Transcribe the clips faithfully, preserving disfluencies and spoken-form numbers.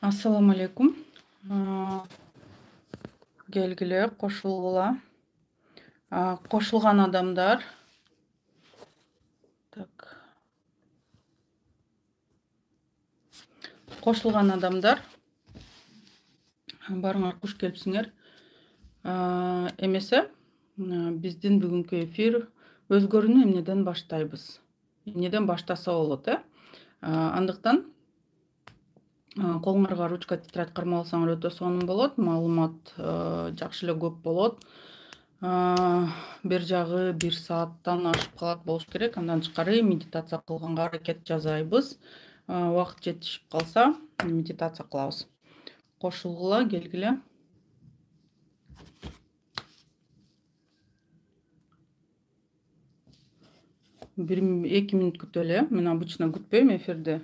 Ассаламу алейкум. А, Келгиле кошулгула. А, Кошулган адамдар. Так. Кошулган адамдар. Барыңар куш келипсиңер. А, Эмесе биздин бүгүнкү эфир өзгөрүүнү эмнеден баштайбыз? Эмнеден баштаса болот, э? А, Андыктан колуңарга ручка, тетрадь кармап алсаңар өтө сонун болот. Маалымат жакшы эле көп болот. Бир жагы бир сааттан ашып калат болуш керек. Андан тышкары медитация кылганга аракет жасайбыз. Убакыт жетишип калса, медитация кылабыз. Кошулгула, келгиле. Бир эки мүнөт күтөлү. Мен обычно күтпөйм эфирде.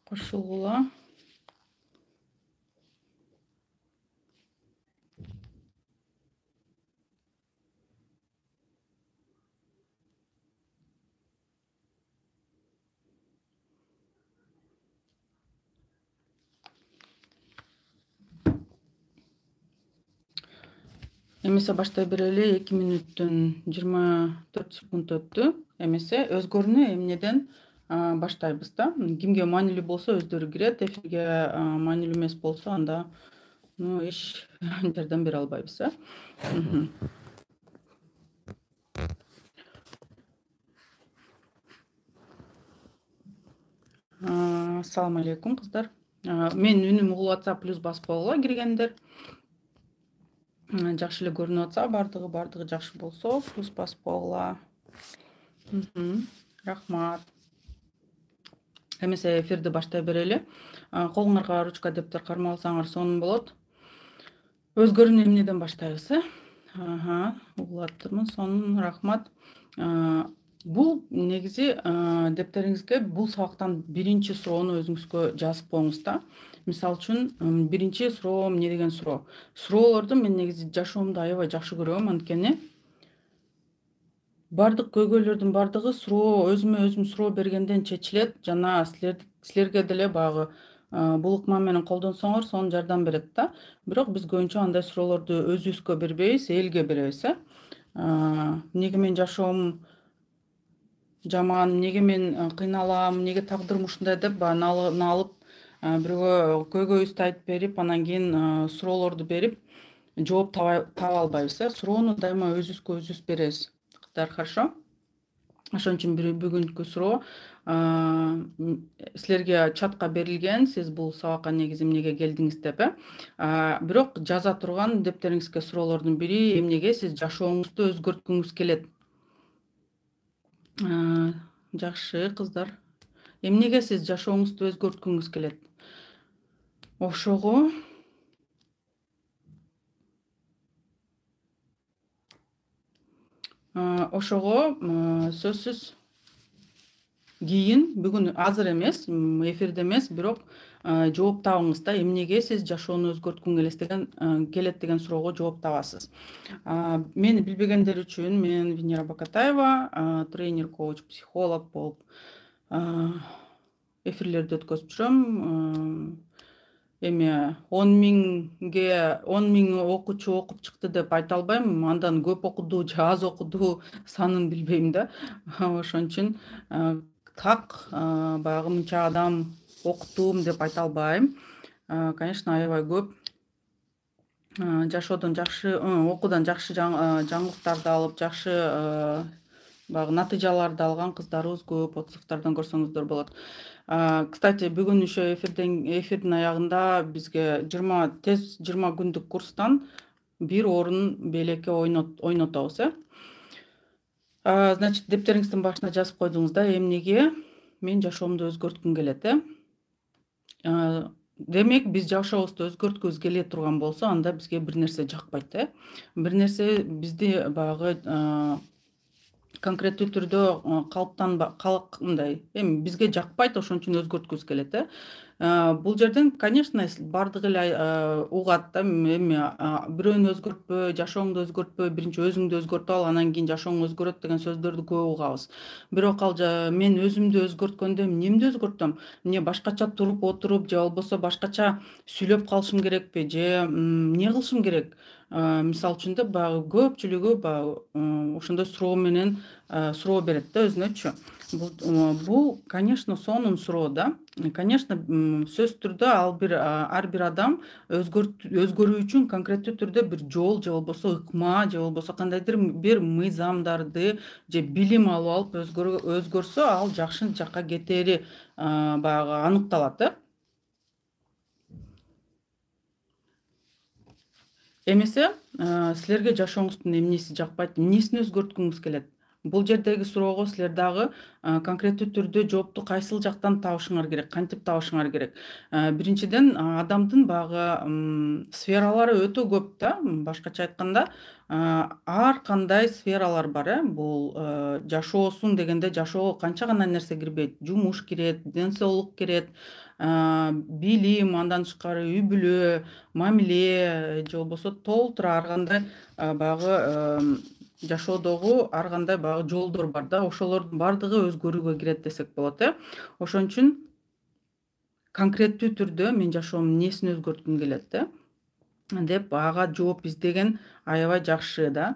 Кошулгула. Эмесе баштай берели. эки мүнөттөн жыйырма төрт секунд өттү. Эмесе өзгөрүүнү эмнеден баштайбыз да. Кимге маанилүү болсо өздөрү кирет. Эфирге маанилүү эмес болсо анда ну эч жардам бере албайбыз, э? Ассаламу алейкум, кыздар. Мен үнүм угулуп атса плюс басып койгула киргендер. Жакшы эле көрүнүп атса, бардыгы бардыгы жакшы болсо, плюс басып койгула. Рахмат. Эмесе эфирди баштай берели. Колуңарга ручка, дептер кармап алсаңар сонун болот. Өзгөрүүнү эмнеден баштайбыз, э? Ага, угулуп атырмын. Сонун, рахмат. Бул негизи дептериңизге бул сабактан биринчи суроону өзүңүзгө жазып коюңуз да. Мисалы үчүн биринчи суроо эмне деген суроо? Суроолорду мен негизи жашоомдо аябай жакшы көрөм, анткени бардык көйгөйлөрдүн бардыгы суроо, өзүмө өзүм суроо бергенден чечилет. Жана силер силерге деле баягы бул ыкма менен колдонсоңор, сонун жардам берет да. Бирок биз көбүнчө андай суроолорду өзүбүзгө бербейбиз, элге беребиз, э? Эмнеге мен жашоом жаман, эмнеге мен кыйналам, эмнеге тагдырым ушундай деп баягы налып, бирөөгө көйгөйүбүздү айтып берип, анан кийин суроолорду берип, жооп таба албайбыз, э? Суроону дайыма өзүбүзгө өзүбүз беребиз. Хорошо? Ошон үчүн бүгүнкү суроо силерге чатка берилген. Сиз бул сабакка негизи эмнеге келдиңиз деп, э? Бирок жаза турган дептериңизге суроолордун бири эмнеге сиз жашооңузду өзгөрткүңүз келет? Жакшы, кыздар. Эмнеге сиз жашооңузду өзгөрткүңүз келет? Ошого Ошого сөзсүз кийин, бүгүн азыр эмес, эфирде эмес, бирок жооп табыңыз да. Эмнеге сиз жашоону өзгөрткүң келет деген келет деген суроого жооп табасыз. Мени билбегендер үчүн мен Венера Бакатаева, тренер, коуч, психолог болуп эфирлерди өткөзүп жүрөм. Эми он миңге он миң окуучу окуп чыкты деп айта албайм. Андан көп окуду же аз окуду санын билбейм да. Ошон үчүн так баягы мынча адам окуттум деп айта албайм. Конечно, аябай көп жашоодон жакшы, окуудан жакшы жаңылыктарды алып, жакшы баягы натыйжаларды алган кыздарыбыз көп. Отзывдардан көрсөңүздөр болот. Кстати, бүгүн еще эфирден эфирдин аягында бизге жыйырма тез жыйырма күндүк курстан бир орун белекке ойнотобуз, э? Значит, дептериңиздин башына жазып койдуңуз да, эмнеге мен жашоомду өзгөрткүм келет, э? А, демек биз жашообузду өзгөрткүбүз келе турган болсо, анда бизге бир нерсе жакпайт, э. Бир нерсе бизди баягы конкреттүү түрдө калыптанба калк мындай эми бизге жакпайт, ошон үчүн өзгөрткүбүз келет, э. Бул жерден, конечно, бардыгы эле угат да, эми бирөөнү өзгөртпө, жашооңду өзгөртпө, биринчи өзүңдү өзгөртүп ал, анан кийин жашооң өзгөрөт деген сөздөрдү көп угабыз. Бирок ал мен өзүмдү өзгөрткөндө эмнемди өзгөртөм? Эмне башкача туруп отуруп же болбосо башкача сүйлөп калышым керекпи же эмне кылышым керек? Мисалы үчүн да баягы көпчүлүгү баягы ошондой суроо менен суроо берет да өзүнөчү. Бул, конечно, сонун суроо да. Конечно, сөзсүз түрдө ал бир ар бир адам өзгөрүү үчүн конкреттүү түрдө бир жол же болбосо ыкма же болбосо кандайдыр бир мыйзамдарды же билим алып алып өзгөрсө, ал жакшы жакка кетери баягы аныкталат, э. Эмесе, силерге жашооңуздун эмнеси жакпайт, эмнесин өзгөрткүңүз келет? Бул жердеги суроого силер дагы конкреттүү түрдө жоопту кайсыл жактан табышыңар керек, кантип табышыңар керек? Биринчиден, адамдын баягы сфералары өтө көп да. Башкача айтканда, ар кандай сфералар бар, э. Бул жашоосуң дегенде жашоого канча гана нерсе кирбейт. Жумуш кирет, ден соолук кирет, билим, андан тышкары үй бүлө, мамиле же болбосо толтура ар кандай баягы жашоодогу ар кандай баягы жолдор бар да. Ошолордун бардыгы өзгөрүүгө кирет десек болот, э. Ошон үчүн конкреттүү түрдө мен жашоомдун эмнесин өзгөрткүм келет, э, деп ага жооп издеген аябай жакшы да.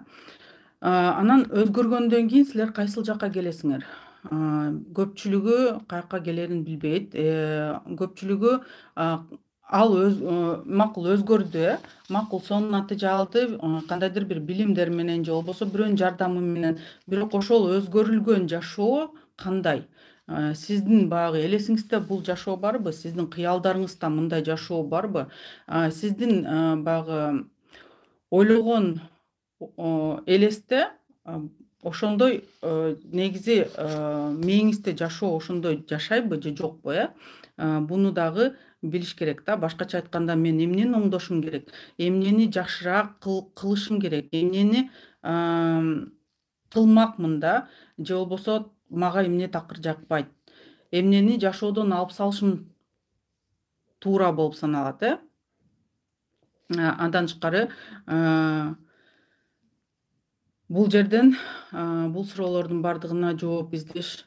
Анан өзгөргөндөн кийин силер кайсыл жакка келесиңер? Көпчүлүгү каяка келерин билбейт. Көпчүлүгү ал макул өзгөрдү, э. Макул сонун натыйжа алды, кандайдыр бир билимдер менен же болбосо бирөөнүн жардамы менен. Бирок ошол өзгөрүлгөн жашоо кандай? Сиздин баягы элесиңизде бул жашоо барбы? Сиздин кыялдарыңызда мындай жашоо барбы? Сиздин баягы ойлогон элесте ошондой негизи мээңизде жашоо ошондой жашайбы же жокпу, э? Буну дагы билиш керек да. Башкача айтканда, мен эмнени оңдошум керек, эмнени жакшыраак кылышым керек, эмнени кылмакмын да, же болбосо мага эмне такыр жакпайт, эмнени жашоодон алып салышым туура болуп саналат, э. Андан тышкары бул жерден бул суроолордун бардыгына жооп издеш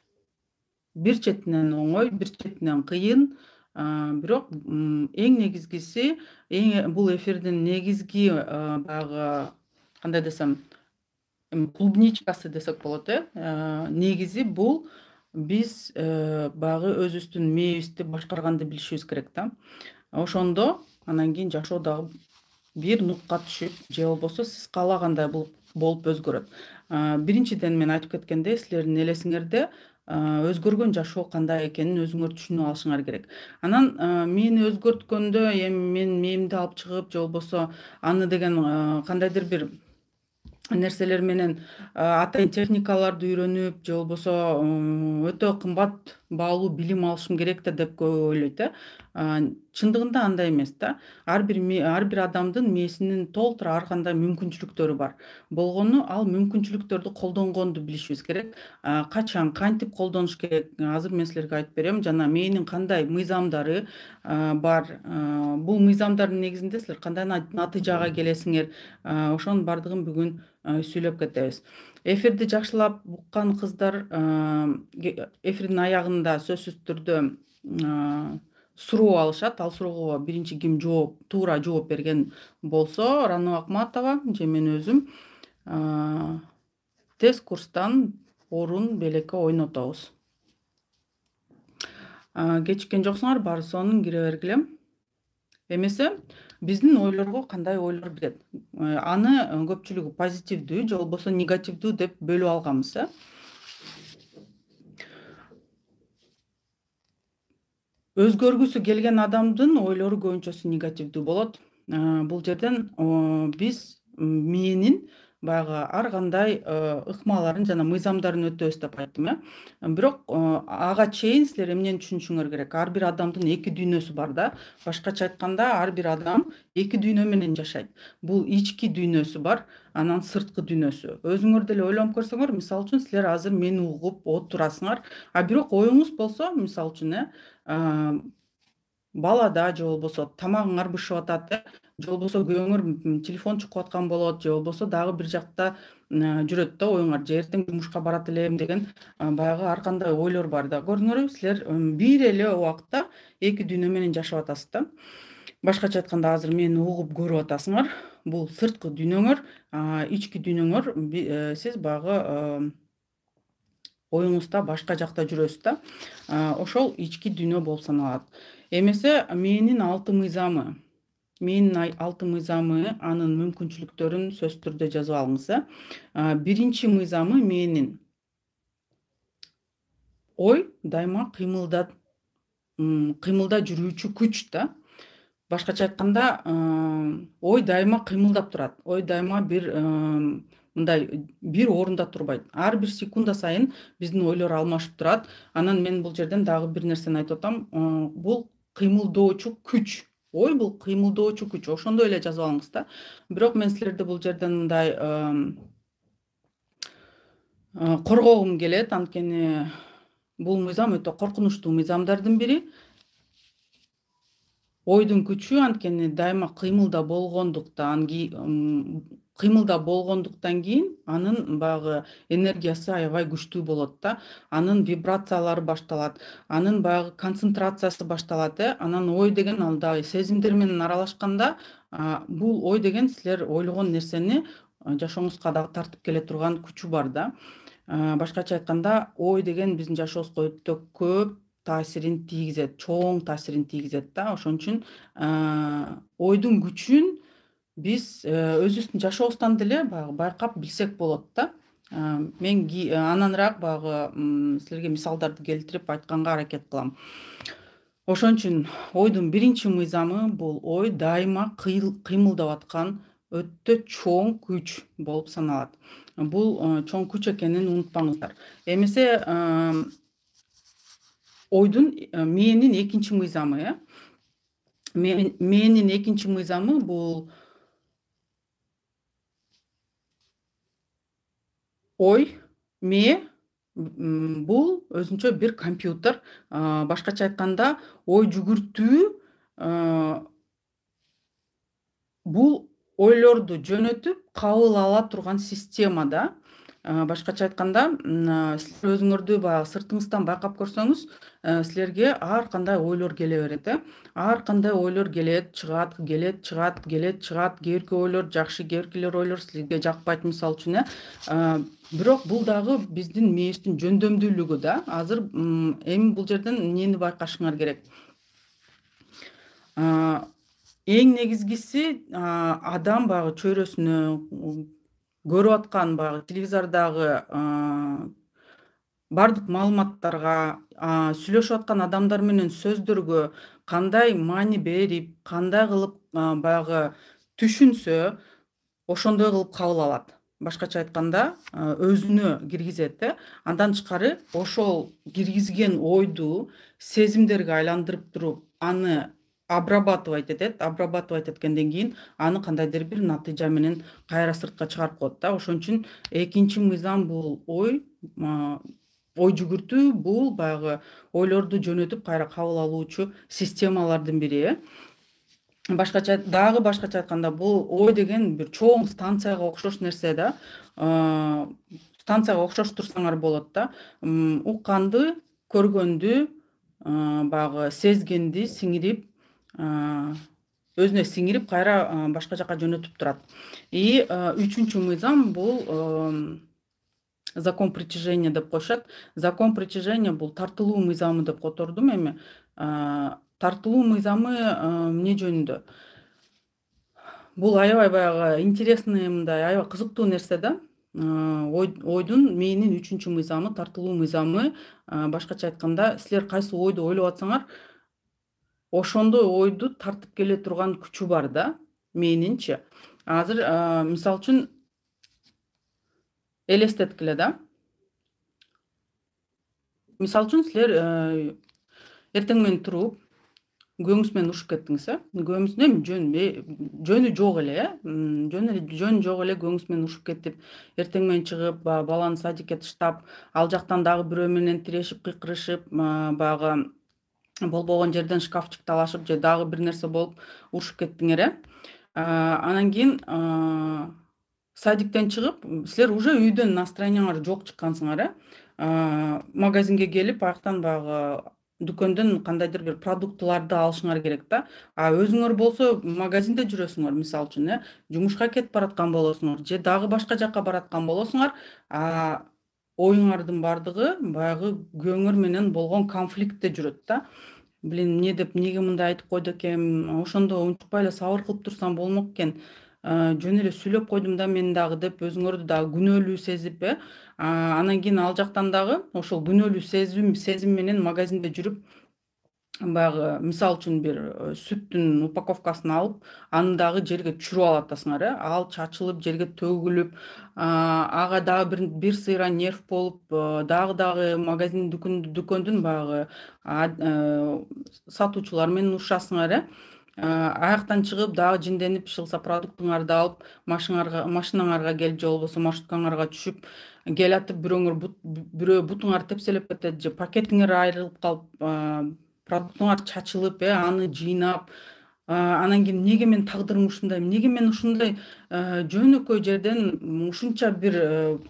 бир четинен оңой, бир четинен кыйын. Бирок эң негизгиси, бул эфирдин негизги баягы кандай десем, клубничкасы десек болот, э. Негизи бул биз баягы өзүбүздүн мээбизди башкарганды билишибиз керек да. Ошондо анан кийин жашоо дагы бир нукка түшүп же болбосо сиз каалагандай болуп өзгөрөт. Биринчиден мен айтып кеткендей, силердин элесиңерде өзгөргөн жашоо кандай экенин өзүңөр түшүнүп алышыңар керек. Анан мени өзгөрткөндө эми мен мээримди алып чыгып же болбосо аны деген кандайдыр бир нерселер менен атайын техникаларды үйрөнүп же болбосо өтө кымбат баалуу билим алышым керек да деп көбү ойлойт, э. Чындыгында андай эмес да. Ар бир ар бир адамдын мээсинин толтура ар кандай мүмкүнчүлүктөрү бар. Болгону ал мүмкүнчүлүктөрдү колдонгонду билишибиз керек. Качан, кантип колдонуш керек? Азыр мен силерге айтып берем. Жана мээнин кандай мыйзамдары бар. Бул мыйзамдардын негизинде силер кандай натыйжага келесиңер? Ошонун бардыгын бүгүн сүйлөп кетебиз. Эфирди жакшылап уккан кыздар эфирдин аягында сөзсүз түрдө суроо алышат. Ал суроого биринчи ким жооп, туура жооп берген болсо, Рано Акматова же мен өзүм тест курстан орун белекке ойнотобуз. Кечиккен жоксуңар, баары сонун кире бергиле. Эмесе, биздин ойлорго кандай ойлор кирет? Аны көпчүлүгү позитивдүү же болбосо негативдүү деп бөлүп алганбыз, э. Өзгөргүсү келген адамдын ойлору көбүнчөсү негативдүү болот. Бул жерден биз мээнин баягы ар кандай ыкмаларын жана мыйзамдарын өтөбүз деп айттым э. Бирок ага чейин силер эмнени түшүнүшүңөр керек? Ар бир адамдын эки дүйнөсү бар да. Башкача айтканда, ар бир адам эки дүйнө менен жашайт. Бул ички дүйнөсү бар, анан сырткы дүйнөсү. Өзүңөр деле ойлонуп көрсөңөр, мисалы үчүн силер азыр мени угуп отурасыңар, а бирок оюңуз болсо, мисалы үчүн э балада же болбосо тамагыңар бышып атат, э же болбосо күйөөңөр телефон чукуп аткан болот, же болбосо дагы бир жакта жүрөт да оюңар, же эртең жумушка барат элем деген баягы ар кандай ойлор бар да. Көрдүңөрбү, силер бир эле убакта эки дүйнө менен жашап атасыз да. Башкача айтканда, азыр мени угуп көрүп атасыңар. Бул сырткы дүйнөңөр, ички дүйнөңөр сиз баягы оюңузда башка жакта жүрөсүз да. Ошол ички дүйнө болуп саналат. Эмесе мээнин алты мыйзамы. Мээнин алты мыйзамы, анын мүмкүнчүлүктөрүн сөзсүз түрдө жазып алыңыз, э. Биринчи мыйзамы мээнин ой дайыма кыймылда кыймылда жүрүүчү күч да. Башкача айтканда, ой дайыма кыймылдап турат. Ой дайыма бир мындай бир орунда турбайт. Ар бир секунда сайын биздин ойлор алмашып турат. Анан мен бул жерден дагы бир нерсени айтып атам. Бул кыймылдоочу күч. Ой бул кыймылдоочу күч. Ошондой эле жазып алыңыз да. Бирок мен силерди бул жерден мындай коргогум келет, анткени бул мыйзам өтө коркунучтуу мыйзамдардын бири. Ойдун күчү анткени дайыма кыймылда болгондуктан кыймылда болгондуктан кийин анын баягы энергиясы аябай күчтүү болот да. Анын вибрациялары башталат, анын баягы концентрациясы башталат, э. Анан ой деген андай сезимдер менен аралашканда, бул ой деген силер ойлогон нерсени жашооңузга дагы тартып келе турган күчү бар да. Башкача айтканда, ой деген биздин жашообузга өтө көп таасирин тийгизет, чоң таасирин тийгизет да. Ошон үчүн ойдун күчүн биз өзүбүздүн жашообуздан деле баягы байкап билсек болот да. Мен ананыраак баягы силерге мисалдарды келтирип айтканга аракет кылам. Ошон үчүн ойдун биринчи мыйзамы бул ой дайыма кыймылдап аткан өтө чоң күч болуп саналат. Бул чоң күч экенин унутпаңыздар. Эмесе ойдун мээнин экинчи мыйзамы, э. Мээнин экинчи мыйзамы бул ой, мээ бул өзүнчө бир компьютер. Башкача айтканда, ой жүгүртүү бул ойлорду жөнөтүп кабыл ала турган система да. Башкача айтканда, силер өзүңөрдү баягы сыртыңыздан байкап көрсөңүз, силерге ар кандай ойлор келе берет, э. Ар кандай ойлор келет, чыгат, келет, чыгат, келет, чыгат. Кээ бирки ойлор жакшы, кээ биркилер ойлор силерге жакпайт, мисалы үчүн, э. Бирок бул дагы биздин мээбиздин жөндөмдүүлүгү да. Азыр эми бул жерден эмнени байкашыңар керек? Эң негизгиси, адам баягы чөйрөсүнө көрүп аткан баягы телевизордогу бардык маалыматтарга, сүйлөшүп аткан адамдар менен сөздөргө кандай маани берип, кандай кылып баягы түшүнсө, ошондой кылып кабыл алат. Башкача айтканда, өзүнө киргизет, э. Андан тышкары ошол киргизген ойду сезимдерге айландырып туруп, аны обрабатывать этет. Обрабатывать эткенден кийин аны кандайдыр бир натыйжа менен кайра сыртка чыгарып коет да. Ошон үчүн экинчи мыйзам бул ой, ой жүгүртүү бул баягы ойлорду жөнөтүп кайра кабыл алуучу системалардын бири, э. Башкача дагы башкача айтканда, бул ой деген бир чоң станцияга окшош нерсе да. Станцияга окшош турсаңар болот да. Укканды, көргөндү, баягы сезгенди сиңирип, өзүнө сиңирип кайра башка жака жөнөтүп турат. И үчүнчү мыйзам бул закон притяжения деп коюшат. Закон притяжения бул тартылуу мыйзамы деп котордум эми. Тартылуу мыйзамы эмне жөнүндө? Бул аябай баягы интересный, мындай аябай кызыктуу нерсе да. Ойдун мээнин үчүнчү мыйзамы, тартылуу мыйзамы. Башкача айтканда, силер кайсы ойду ойлоп атсаңар, ошондой ойду тартып келе турган күчү бар да, мээнинчи. Азыр мисалы үчүн элестеткиле да. Мисалы үчүн силер эртең менен туруп күйөөңүз менен урушуп кеттиңиз, э? Күйөөңүздүн эми жөн жөнү жок эле, э? Жөн эле жөн жок эле күйөөңүз менен урушуп кетип, эртең менен чыгып, баягы баланы садикке таштап, ал жактан дагы бирөө менен тирешип, кыйкырышып, баягы болбогон жерден шкафчик талашып же дагы бир нерсе болуп урушуп кеттиңер, э? Анан кийин садиктен чыгып, силер уже үйдөн настроениеңар жок чыккансыңар, э? Магазинге келип, аяктан баягы дүкөндөн кандайдыр бир продуктыларды алышыңар керек да. А өзүңөр болсо магазинде жүрөсүңөр, мисалы үчүн, э? Жумушка кетип бараткан болосуңар же дагы башка жакка бараткан болосуңар, оюңардын бардыгы баягы күйөөңөр менен болгон конфликтте жүрөт да. Блин, эмне деп, эмнеге мындай айтып койду экенмин, ошондо унчукпай эле сабыр кылып турсам болмок экен, жөн эле сүйлөп койдум да мен дагы деп өзүңөрдү дагы күнөөлүү сезип, э? Анан кийин ал жактан дагы ошол күнөөлүү сезим сезим менен магазинде жүрүп, баягы мисалы үчүн бир сүттүн упаковкасын алып, аны дагы жерге түшүрүп алып атасыңар, э? Ал чачылып, жерге төгүлүп, ага дагы бир бир сыйра нерв болуп, дагы дагы магазин дүкөндүн баягы сатуучулар менен урушасыңар, э? Аяктан чыгып дагы жинденип, иши продуктуңарды алып, машинаңарга келип же болбосо маршруткаңарга түшүп келатып, бирөөңөр бирөө бутуңарды тепселеп кетет же пакетиңер айрылып калып, продуктуңар чачылып, э, аны жыйнап, анан кийин эмнеге менин тагдырым ушундай, эмнеге мен ушундай жөнөкөй жерден ушунча бир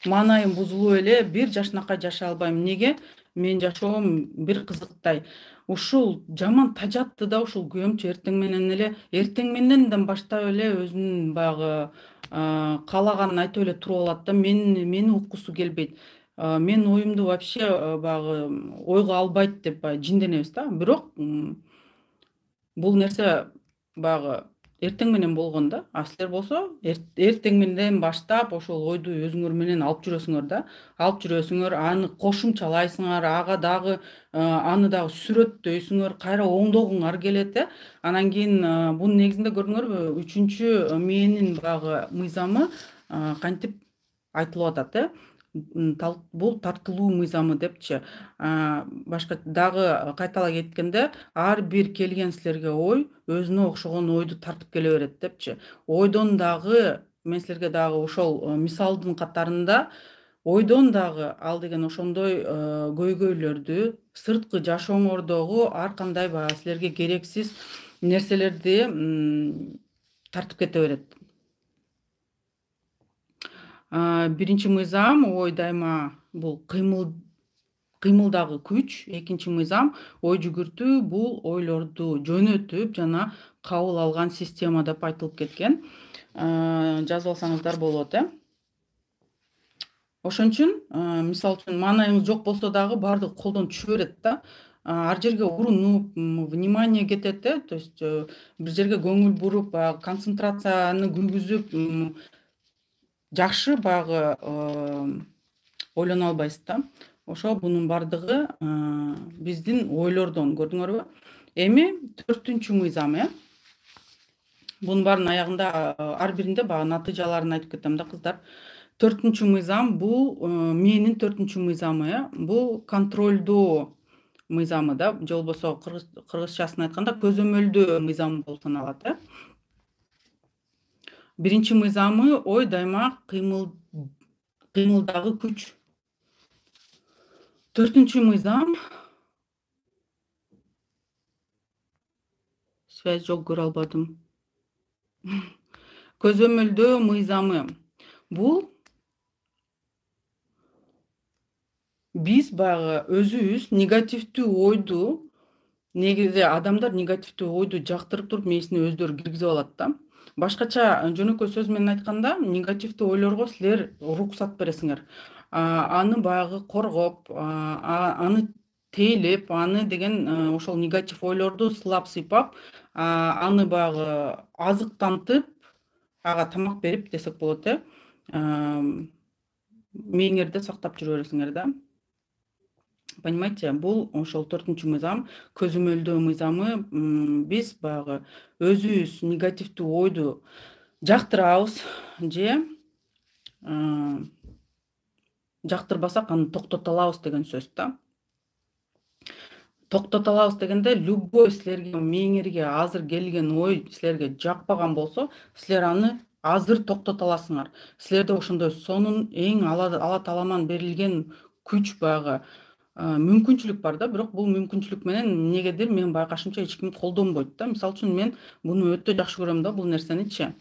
маанайым бузулуп эле бир жашынакай жашай албайм, эмнеге менин жашоом бир кызыктай. Ушул жаман тажатты да ушул күйөөмчү эртең менен эле, эртең мененден баштап эле өзүнүн баягы каалаганын айтып эле туруп алат да. Мен мени уккусу келбейт. Менин оюмду вообще баягы ойго албайт деп баягы жинденебиз да. Бирок бул нерсе баягы эртең менен болгон да. А силер болсо эртең менен баштап ошол ойду өзүңөр менен алып жүрөсүңөр да. Алып жүрөсүңөр, аны кошумчалайсыңар, ага дагы аны дагы сүрөттөйсүңөр, кайра оңдогуңар келет, э? Анан кийин бунун негизинде көрдүңөрбү, үчүнчү мээнин баягы мыйзамы кантип айтылып атат, э? Бул тартылуу мыйзамы депчи. Башка дагы кайталай кеткенде, ар бир келген силерге ой өзүнө окшогон ойду тартып келе берет депчи. Ойдон дагы мен силерге дагы ошол мисалдын катарында ойдон дагы ал деген ошондой көйгөйлөрдү, сырткы жашооңордогу ар кандай баягы силерге керексиз нерселерди тартып кете берет. Биринчи мыйзам ой дайыма бул кыймыл кыймылдагы күч, экинчи мыйзам ой жүгүртүү бул ойлорду жөнөтүп жана кабыл алган система деп айтылып кеткен. Жазып алсаңыздар болот, э? Ошон үчүн мисалы үчүн маанайыңыз жок болсо дагы баардыгы колдон түшө берет да. Ар жерге урунуп, внимание кетет, э? То есть бир жерге көңүл буруп, баягы концентрацияны күйгүзүп жакшы баягы ойлоно албайсыз да. Ошо бунун бардыгы биздин ойлордон, көрдүңөрбү? Эми төртүнчү мыйзам, э? Бунун баарынын аягында ар биринде баягы натыйжаларын айтып кетем да, кыздар. Төртүнчү мыйзам бул мээнин төртүнчү мыйзамы, э? Бул контролдоо мыйзамы да, же болбосо кыргызчасын айтканда көзөмөлдөө мыйзамы болуп саналат, э? Биринчи мыйзамы ой дайыма кыймыл кыймылдагы күч. Төртүнчү мыйзам связь жок, көрө албадым. Көзөмөлдөө мыйзамы. Бул биз баягы өзүбүз негативдүү ойду, негизи адамдар негативдүү ойду жактырып туруп мээсине өздөрү киргизип алат да. Башкача жөнөкөй сөз менен айтканда, негативдүү ойлорго силер уруксат бересиңер. Аны баягы коргоп, аны тейлеп, аны деген ошол негатив ойлорду сылап сыйпап, аны баягы азыктантып, ага тамак берип десек болот, э? Мээңерде сактап жүрө бересиңер да. Понимаете, бул ошол төртүнчү мыйзам, көзөмөлдөө мыйзамы. Биз баягы өзүбүз негативдүү ойду жактырабыз же жактырбасак аны токтото алабыз деген сөз да. Токтото алабыз дегенде любой силерге мээңерге азыр келген ой силерге жакпаган болсо, силер аны азыр токтото аласыңар. Силерде ошондой сонун эң Алла Тааламан берилген күч баягы мүмкүнчүлүк бар да, бирок бул мүмкүнчүлүк менен эмнегедир мен байкашымча эч ким колдонбойт да. Мисалы үчүн мен буну өтө жакшы көрөм да бул нерсеничи.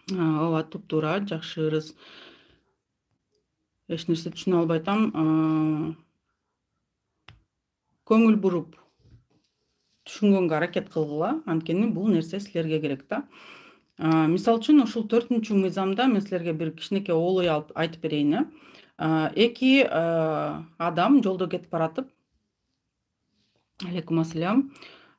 Ооба, туп-туура, жакшы ырыс. Эч нерсе түшүнө албай атам. Көңүл буруп түшүнгөнгө аракет кылгыла, анткени бул нерсе силерге керек да. Мисалы үчүн ушул төртүнчү мыйзамда мен силерге бир кичинекей олой айтып берейин. Эки адам жолдо кетип баратып, алейкум ассалам.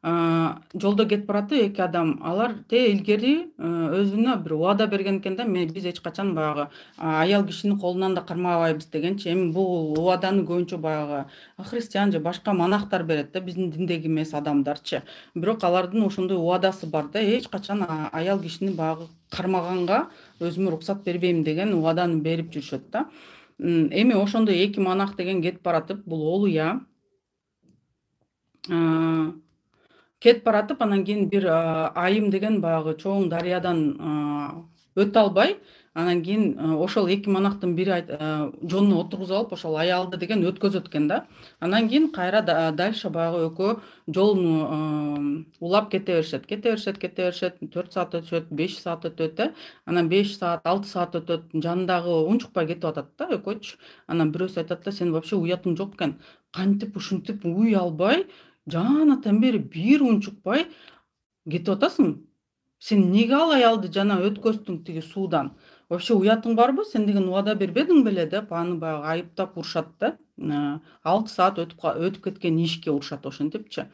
Жолдо кетип баратып эки адам, алар те илгери өзүнө бир убада берген экен да, мен биз эч качан баягы аял кишинин колунан да кармабайбыз дегенчи. Эми бул убаданы көбүнчө баягы христиан же башка монахтар берет да, биздин диндеги эмес адамдарчы. Бирок алардын ошондой убадасы бар да, эч качан аял кишини баягы кармаганга өзүмө уруксат бербейм деген убаданы берип жүрүшөт да. Эми ошондой эки монах деген кетип баратып, бул олуя кетип баратып, анан кийин бир айым деген баягы чоң дарыядан өтө албай, анан кийин ошол эки монахтын бири жонуна отургузуп алып, ошол аялды деген өткөзөт экен да. Анан кийин кайра дальше баягы экөө жолун улап кете беришет, кете беришет, кете беришет, төрт саат өтүшөт, беш саат өтөт. Анан беш саат, алты саат өтөт, жанындагы унчукпай кетип атат да экөөчү. Анан бирөөсү айтат да, сен вообще уятың жок экен. Кантип ушинтип уй албай, жанатан бери бир унчукпай кетип атасың? Сен эмнеге ал аялды жана өткөздүң тиги суудан? Вообще уятың барбы? Сен деген убада бербедиң беле деп аны баягы айыптап урушат да. алты саат өтүп кеткен ишке урушат ошентипчи.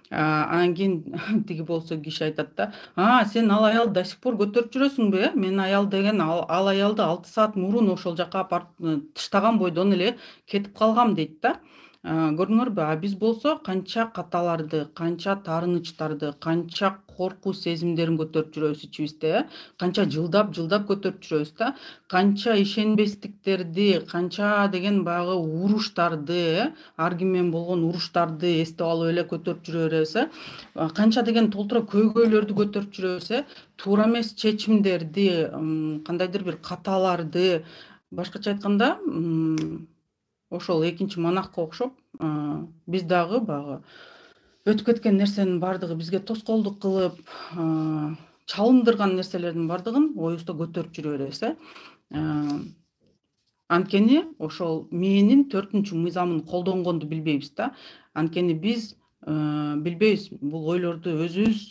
Анан кийин тиги болсо киши айтат да, а сен ал аялды до сих пор көтөрүп жүрөсүңбү? Мен аял деген ал аялды алты саат мурун ошол жака апарып таштаган бойдон эле кетип калгам дейт да. Көрдүңөрбү? А биз болсо канча каталарды, канча таарынычтарды, канча коркуу сезимдерин көтөрүп жүрөбүз ичибизде, канча жылдап жылдап көтөрүп жүрөбүз да, канча ишенбестиктерди, канча деген баягы уруштарды, ар ким менен болгон уруштарды эстеп алып эле көтөрүп жүрө беребиз, канча деген толтура көйгөйлөрдү көтөрүп жүрөбүз, туура эмес чечимдерди, кандайдыр бир каталарды, башкача айтканда, ошол экинчи монахка окшоп, биз дагы баягы өтүп кеткен нерсенин бардыгы бизге тоскоолдук кылып, чалындырган нерселердин бардыгын оюбузда көтөрүп жүрө беребиз. Анткени ошол мээнин төртүнчү мыйзамын колдонгонду билбейбиз да. Анткени биз билбейбиз бул ойлорду өзүбүз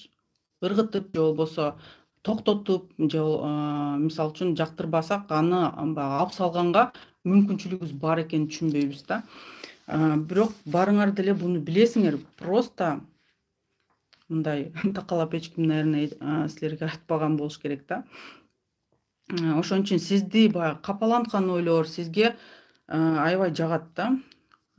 ыргытып же болбосо токтотуп же мисалы үчүн жактырбасак аны алып салганга мүмкүнчүлүгүбүз бар экенин түшүнбөйбүз да. Бирок барыңар деле буну билесиңер, просто мындай такалап эч ким, наверное, силерге айтпаган болуш керек да. Ошон үчүн сизди баягы капаланткан ойлор сизге аябай жагат да.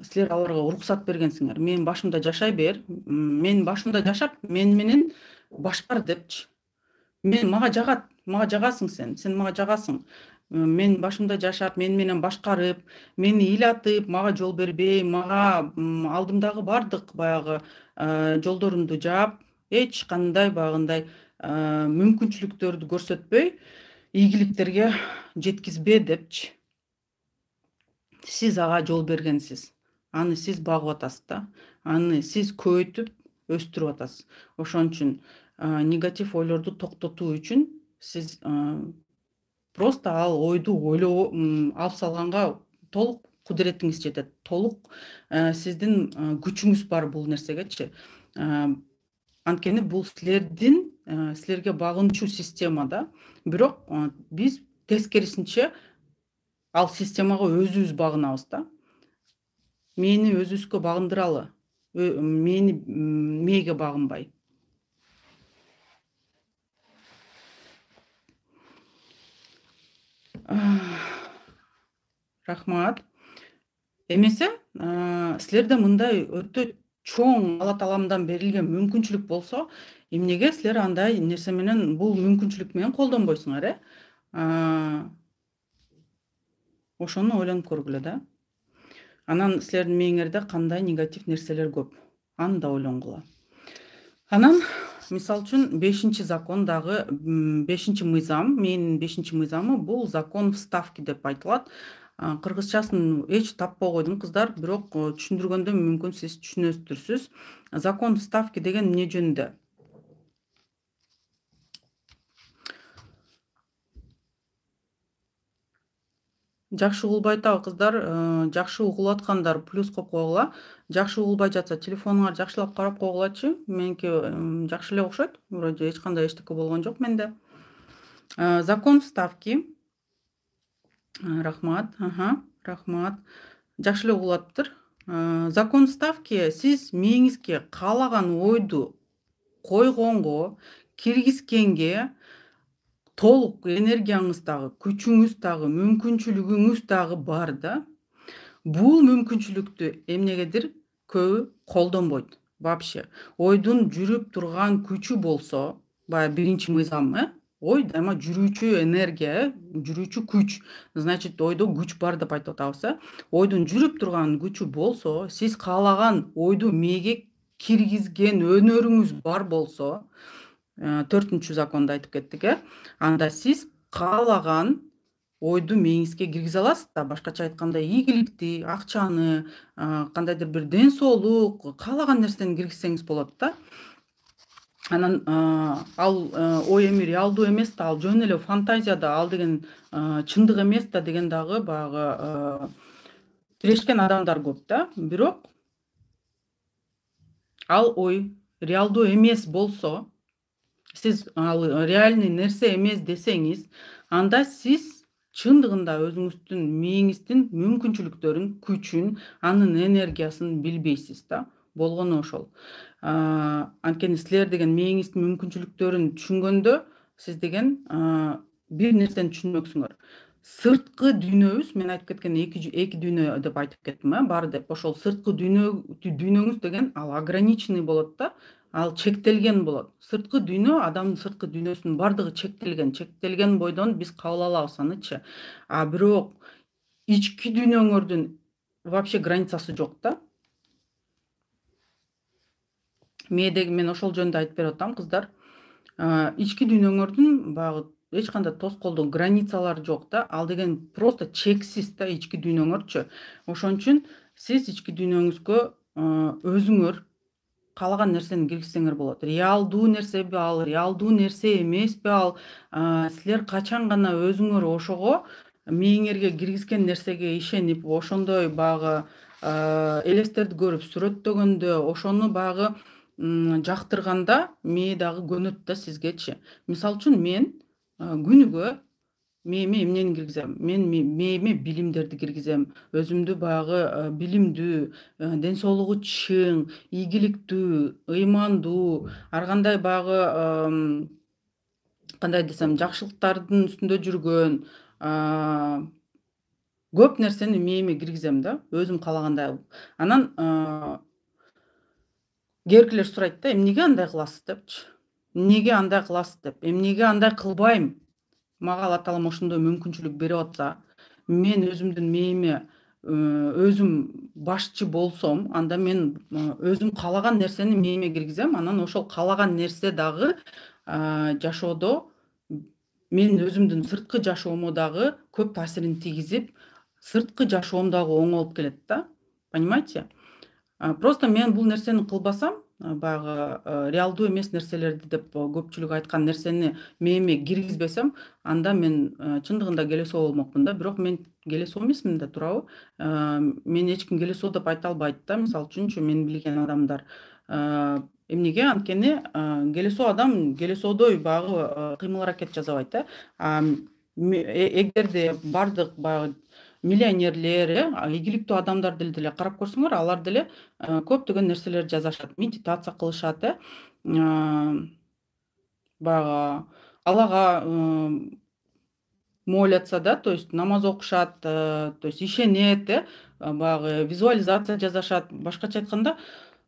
Силер аларга уруксат бергенсиңер. Мен башымда жашай бер, мен башымда жашап, мен менен башкар депчи. Мен мага жагат, мага жагасың сен, сен мага жагасың. Мен башымда жашап, мен менен башкарып, мени ыйлатып, мага жол бербей, мага алдымдагы бардык баягы жолдорумду жаап, эч кандай баягындай мүмкүнчүлүктөрдү көрсөтпөй, ийгиликтерге жеткизбе депчи. Сиз ага жол бергенсиз. Аны сиз багып атасыз да. Аны сиз көбөйтүп, өстүрүп атасыз. Ошон үчүн негатив ойлорду токтотуу үчүн сиз просто ал ойду ойлоо алып салганга толук кудуретиңиз жетет. Толук сиздин күчүңүз бар бул нерсегечи. Анткени бул силердин силерге багынчу система да. Бирок биз тескерисинче ал системага өзүбүз багынабыз да. Мени өзүбүзгө багындыралы. Мени мээге багынбай. Рахмат. Эмесе, силерде мындай өтө чоң Алла Тааламдан берилген мүмкүнчүлүк болсо, эмнеге силер андай нерсе менен, бул мүмкүнчүлүк менен колдонбойсуңар, э? Ошону ойлонуп көргүлө да. Анан силердин мээңерде кандай негатив нерселер көп, аны да ойлонгула. Анан мисалы үчүн бешинчи закон дагы, бешинчи мыйзам, менин бешинчи мыйзамы бул закон вставки деп айтылат. Кыргызчасын эч таппай койдум кыздар, бирок түшүндүргөндө мүмкүн сиз түшүнөсүздөр. Закон вставки деген эмне жөнүндө? Жакшы угулбай атабы кыздар? Жакшы угулуп аткандар плюс коюп койгула. Жакшы угулбай жатса телефонуңар жакшылап карап койгулачы. Меники жакшы эле окшойт. Вроде эч кандай эчтеке болгон жок менде. Закон вставки. Рахмат. Ага, рахмат. Жакшы эле угулуп атыптыр. Закон вставки сиз мээңизге каалаган ойду койгонго, киргизгенге толук энергияңыз дагы, күчүңүз дагы, мүмкүнчүлүгүңүз дагы бар да. Бул мүмкүнчүлүктү эмнегедир көбү колдонбойт вообще. Ойдун жүрүп турган күчү болсо, баягы биринчи мыйзам, э? Ой дайыма жүрүүчү энергия, э? Жүрүүчү күч. Значит, ойдо күч бар деп айтып атабыз, э? Ойдун жүрүп турган күчү болсо, сиз каалаган ойду мээге киргизген өнөрүңүз бар болсо, төртүнчү законду айтып кеттик, э? Анда сиз каалаган ойду мээңизге киргизе аласыз да. Башкача айтканда, ийгиликти, акчаны, кандайдыр бир ден соолук, каалаган нерсени киргизсеңиз болот да. Анан ал ой эми реалдуу эмес да, ал жөн эле фантазия да, ал деген чындык эмес да деген дагы баягы тирешкен адамдар көп да. Бирок ал ой реалдуу эмес болсо, сиз ал реальный нерсе эмес десеңиз, анда сиз чындыгында өзүңүздүн мээңиздин мүмкүнчүлүктөрүн, күчүн, анын энергиясын билбейсиз да. Болгону ошол. Анткени силер деген мээңиздин мүмкүнчүлүктөрүн түшүнгөндө, сиз деген бир нерсени түшүнмөксүңөр. Сырткы дүйнөбүз, мен айтып кеткен эки дүйнө деп айтып кеттим, э? Бар деп. Ошол сырткы дүйнөңүз деген ал ограниченный болот да. Ал чектелген болот. Сырткы дүйнө, адамдын сырткы дүйнөсүнүн бардыгы чектелген. Чектелген бойдон биз кабыл алабыз анычы. А бирок ички дүйнөңөрдүн вообще границасы жок да. Мээдеги мен ошол жөнүндө айтып берип атам кыздар. Ички дүйнөңөрдүн баягы эч кандай тоскоолдук, границалары жок да. Ал деген просто чексиз да ички дүйнөңөрчү. Ошон үчүн сиз ички дүйнөңүзгө өзүңөр каалаган нерсени киргизсеңер болот. Реалдуу нерсеби ал, реалдуу нерсе эмеспи ал, силер качан гана өзүңөр ошого мээңерге киргизген нерсеге ишенип, ошондой баягы элестерди көрүп сүрөттөгөндө, ошону баягы жактырганда мээ дагы көнөт да сизгечи. Мисалы үчүн мен күнүгө мээме эмнени киргизем? Мен мээме билимдерди киргизем. Өзүмдү баягы билимдүү, ден соолугу чың, ийгиликтүү, ыймандуу, ар кандай баягы кандай десем, жакшылыктардын үстүндө жүргөн көп нерсени мээме киргизем да, өзүм каалагандай. Анан кээбиркилер сурайт да, эмнеге андай кыласыз депчи. Эмнеге андай кыласыз деп. Эмнеге андай кылбайм? Мага Алла Таалам ошондой мүмкүнчүлүк берип атса, мен өзүмдүн мээме өзүм башчы болсом, анда мен өзүм каалаган нерсени мээме киргизем. Анан ошол каалаган нерсе дагы жашоодо мен өзүмдүн сырткы жашоомо дагы көп таасирин тийгизип, сырткы жашоом дагы оңолуп келет да. Понимаете? Просто мен бул нерсени кылбасам, баягы реалдуу эмес нерселерди деп көпчүлүк айткан нерсени мээме киргизбесем, анда мен чындыгында келесоо болмокмун да. Бирок мен келесоо эмесмин да, туурабы? Мен эч ким келесоо деп айта албайт да. Мисалы үчүнчү, мен билген адамдар. Эмнеге? Анткени келесоо адам келесоодой баягы кыймыл аракет жасабайт, э? Эгерде бардык баягы миллионерлер, э, ийгиликтүү адамдарды деле карап көрсөңөр, алар деле көптөгөн нерселерди жасашат, медитация кылышат, э? Баягы Аллага молятся, да, то есть намаз окушат, то есть ишенет, э? Баягы визуализация жасашат. Башкача айтканда,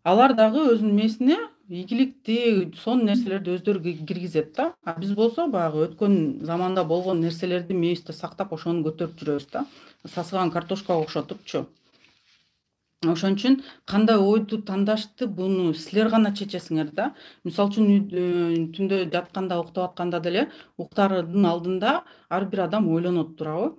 алар дагы өзүнүн мээсине ийгиликтүү, сонун нерселерди өздөрү киргизет да. А биз болсо баягы өткөн заманда болгон нерселерди мээбизде сактап, ошону көтөрүп жүрөбүз да. Сасыган картошкага окшотупчу. Ошон үчүн кандай ойду тандашты буну силер гана чечесиңер да. Мисалы үчүн түндө жатканда, уктап атканда деле уктаардын алдында ар бир адам ойлонот турабы?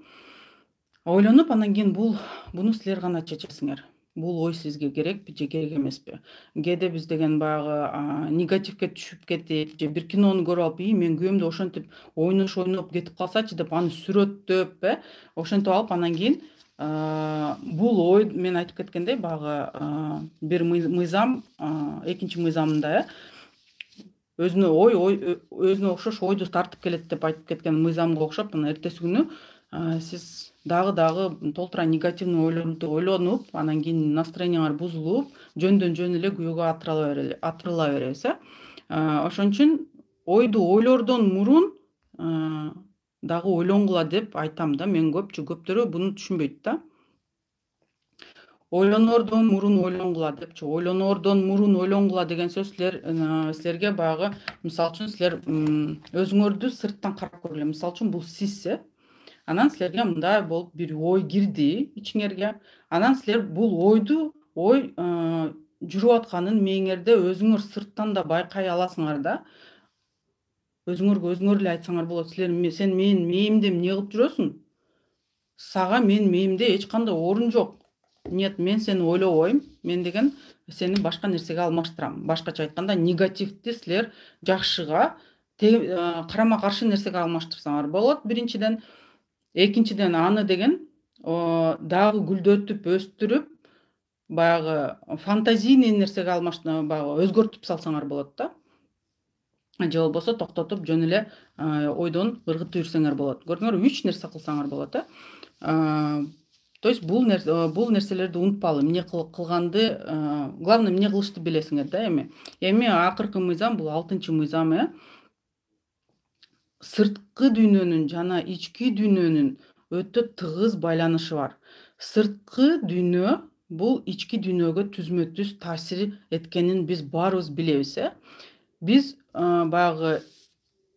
Ойлонуп, анан кийин бул буну силер гана чечесиңер. Бул ой сизге керекпи же керек эмеспи? Кээде биз деген баягы негативге түшүп кетип, же бир кинону көрүп алып, ии мен күйөөмдү ошентип ойнош ойноп кетип калсачы деп аны сүрөттөп, э, ошентип алып анан кийин бул ой мен айтып кеткендей баягы бир мыйзам экинчи мыйзамында, э, өзүнө ой ой өзүнө окшош ойду тартып келет деп айтып кеткен мыйзамга окшоп, анан эртеси күнү сиз дагы дагы толтура негативный ойлорду ойлонуп, анан кийин настроениеңер бузулуп, жөндөн жөн эле күйөөгө атырыла беребиз, э. Ошон үчүн ойду ойлордон мурун дагы ойлонгула деп айтам да. Мен көпчү көптөрү буну түшүнбөйт да. Ойлонордон мурун ойлонгула депчи. Ойлоноордон мурун ойлонгула деген сөз силер силерге баягы мисалы үчүн силер өзүңөрдү сырттан карап көргүлө. Мисалы үчүн бул сиз, э. Анан силерге мындай болуп бир ой кирди ичиңерге. Анан силер бул ойду ой жүрүп атканын мээңерде өзүңөр сырттан да байкай аласыңар да. Өзүңөргө өзүңөр эле айтсаңар болот. Силер сен менин мээримде эмне кылып жүрөсүң? Сага менин мээримде эч кандай орун жок. Нет, мен сени ойлобойм. Мен деген сени башка нерсеге алмаштырам. Башкача айтканда, негативди силер жакшыга, карама каршы нерсеге алмаштырсаңар болот биринчиден. Экинчиден аны деген дагы гүлдөтүп, өстүрүп, баягы фантазийный нерсеге алмаштырып, баягы өзгөртүп салсаңар болот да. Же болбосо токтотуп жөн эле ойдон ыргытып жүрсөңөр болот. Көрдүңөрбү, үч нерсе кылсаңар болот, э. То есть бул бул нерселерди унутпагыла, эмне кылганды, главное эмне кылышты билесиңер да эми. Эми акыркы мыйзам бул алтынчы мыйзам, э. Сырткы дүйнөнүн жана ички дүйнөнүн өтө тыгыз байланышы бар. Сырткы дүйнө бул ички дүйнөгө түзмө-түз таасир эткенин биз баарыбыз билебиз, э. Биз баягы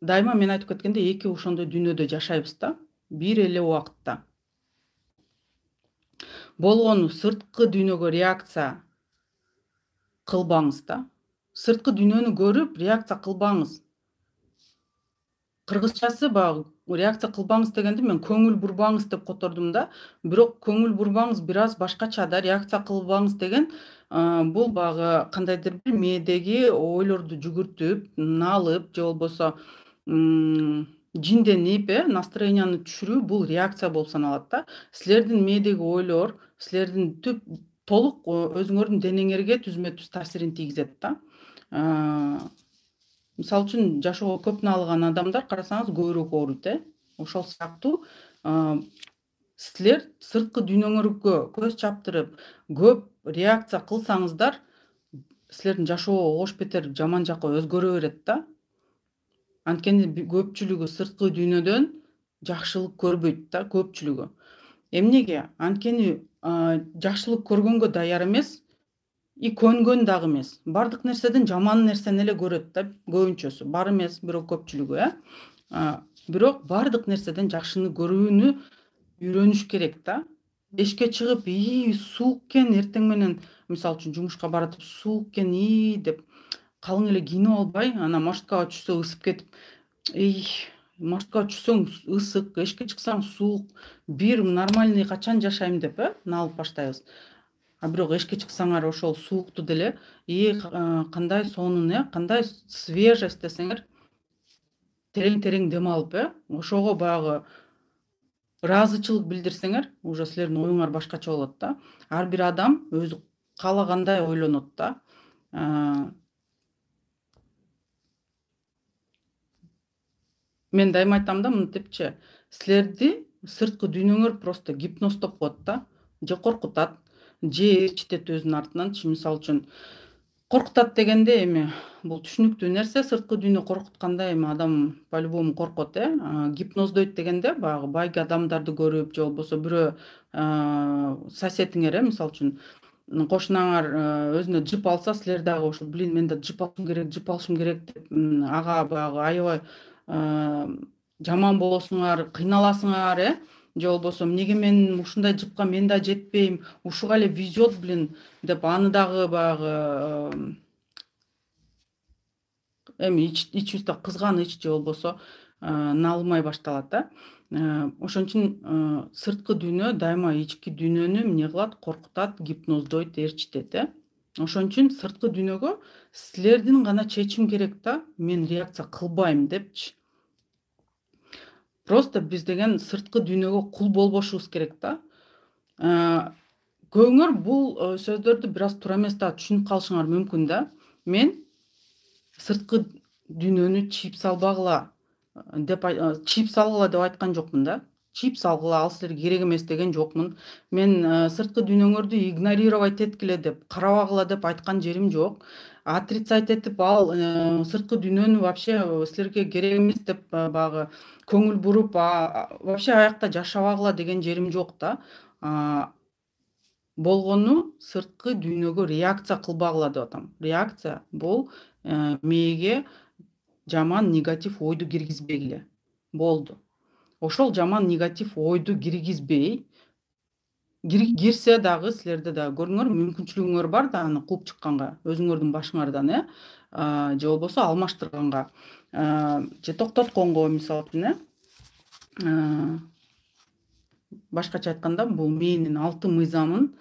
дайыма мен айтып кеткендей эки ошондой дүйнөдө жашайбыз да, бир эле убакытта. Болгону сырткы дүйнөгө реакция кылбаңыз да. Сырткы дүйнөнү көрүп реакция кылбаңыз. Кыргызчасы баягы реакция кылбаңыз дегенди мен көңүл бурбаңыз деп котордум да. Бирок көңүл бурбаңыз бир аз башкача да. Реакция кылбаңыз деген бул баягы кандайдыр бир мээдеги ойлорду жүгүртүп, налып же болбосо жинденип, э, настроенияны түшүрүү бул реакция болуп саналат да. Силердин мээдеги ойлор силердин түп толук өзүңөрдүн денеңерге түзмө-түз таасирин тийгизет да. Мисалы үчүн жашоого көп налыган адамдар карасаңыз көбүрөөк ооруйт, э. Ошол сыяктуу силер сырткы дүйнөңөргө көз чаптырып, көп реакция кылсаңыздар, силердин жашоо ош бетер жаман жакка өзгөрө берет да. Анткени көпчүлүгү сырткы дүйнөдөн жакшылык көрбөйт да, көпчүлүгү. Эмнеге? Анткени жакшылык көргөнгө даяр эмес, и көнгөн дагы эмес. Бардык нерседен жаман нерсени эле көрөт да, көбүнчөсү. Бар эмес, бирок көпчүлүгү, э. Бирок бардык нерседен жакшыны көрүүнү үйрөнүш керек да. Эшикке чыгып, ии суук экен, эртең менен мисалы үчүн жумушка баратып суук экен, ии деп калың эле кийинип албай, анан маршруткага түшсө ысып кетип, эй, маршруткага түшсөң ысык, эшикке чыксаң суук, бир нормальный качан жашайм деп, э, налып баштайбыз. А бирок эшикке чыксаңар ошол суукту деле, ии кандай сонун, э, кандай свежесть десеңер, терең-терең дем алып, э, ошого баягы ыраазычылык билдирсеңер, уже силердин оюңар башкача болот да. Ар бир адам өзү каалагандай ойлонот да. Мен дайыма айтам да мынтипчи, силерди сырткы дүйнөңөр просто гипноздоп коет да, же коркутат, же ээрчитет өзүнүн артынанчы. Мисалы үчүн коркутат дегенде эми бул түшүнүктүү нерсе, сырткы дүйнө коркутканда эми адам по-любому коркот, э. Гипноздойт дегенде баягы байги адамдарды көрүп, же болбосо бирөө соседиңер, э, мисалы үчүн кошунаңар өзүнө жип алса, силер дагы ошо блин мен да жип алышым керек, жип алышым керек деп ага баягы аябай жаман болосуңар, кыйналасыңар, э же болбосо эмнеге мен ушундай жипка мен да жетпейм, ушуга эле везет блин деп аны дагы баягы эми ичибизде кызганыч же болбосо наалмай башталат да. Ошон үчүн сырткы дүйнө дайыма ички дүйнөнү эмне кылат, коркутат, гипноздойт, ээрчитет, э. Ошон үчүн сырткы дүйнөгө силердин гана чечим керек да, мен реакция кылбайм депчи. Просто биз деген сырткы дүйнөгө кул болбошубуз керек да. Көбүңөр бул сөздөрдү бир аз туура эмес да түшүнүп калышыңар мүмкүн да. Мен сырткы дүйнөнү чип салбагыла деп чип салгыла деп айткан жокмун да. Чип салгыла, ал силерге керек эмес деген жокмун. Мен сырткы дүйнөңөрдү игнорировать эткиле деп, карабагыла деп айткан жерим жок. Отрицать этип, ал сырткы дүйнөнү вообще силерге керек эмес деп баягы көңүл буруп, вообще аякта жашабагыла деген жерим жок да. Болгону сырткы дүйнөгө реакция кылбагыла деп атам. Реакция бул мээге жаман негатив ойду киргизбегиле. Болду. Ошол жаман негатив ойду киргизбей, кирсе дагы силерде дагы көрүңөр мүмкүнчүлүгүңөр бар да аны кууп чыкканга, өзүңөрдүн башыңардан, э, же болбосо алмаштырганга, же токтотконго, мисалы үчүн, э. Башкача айтканда, бул мээнин алты мыйзамын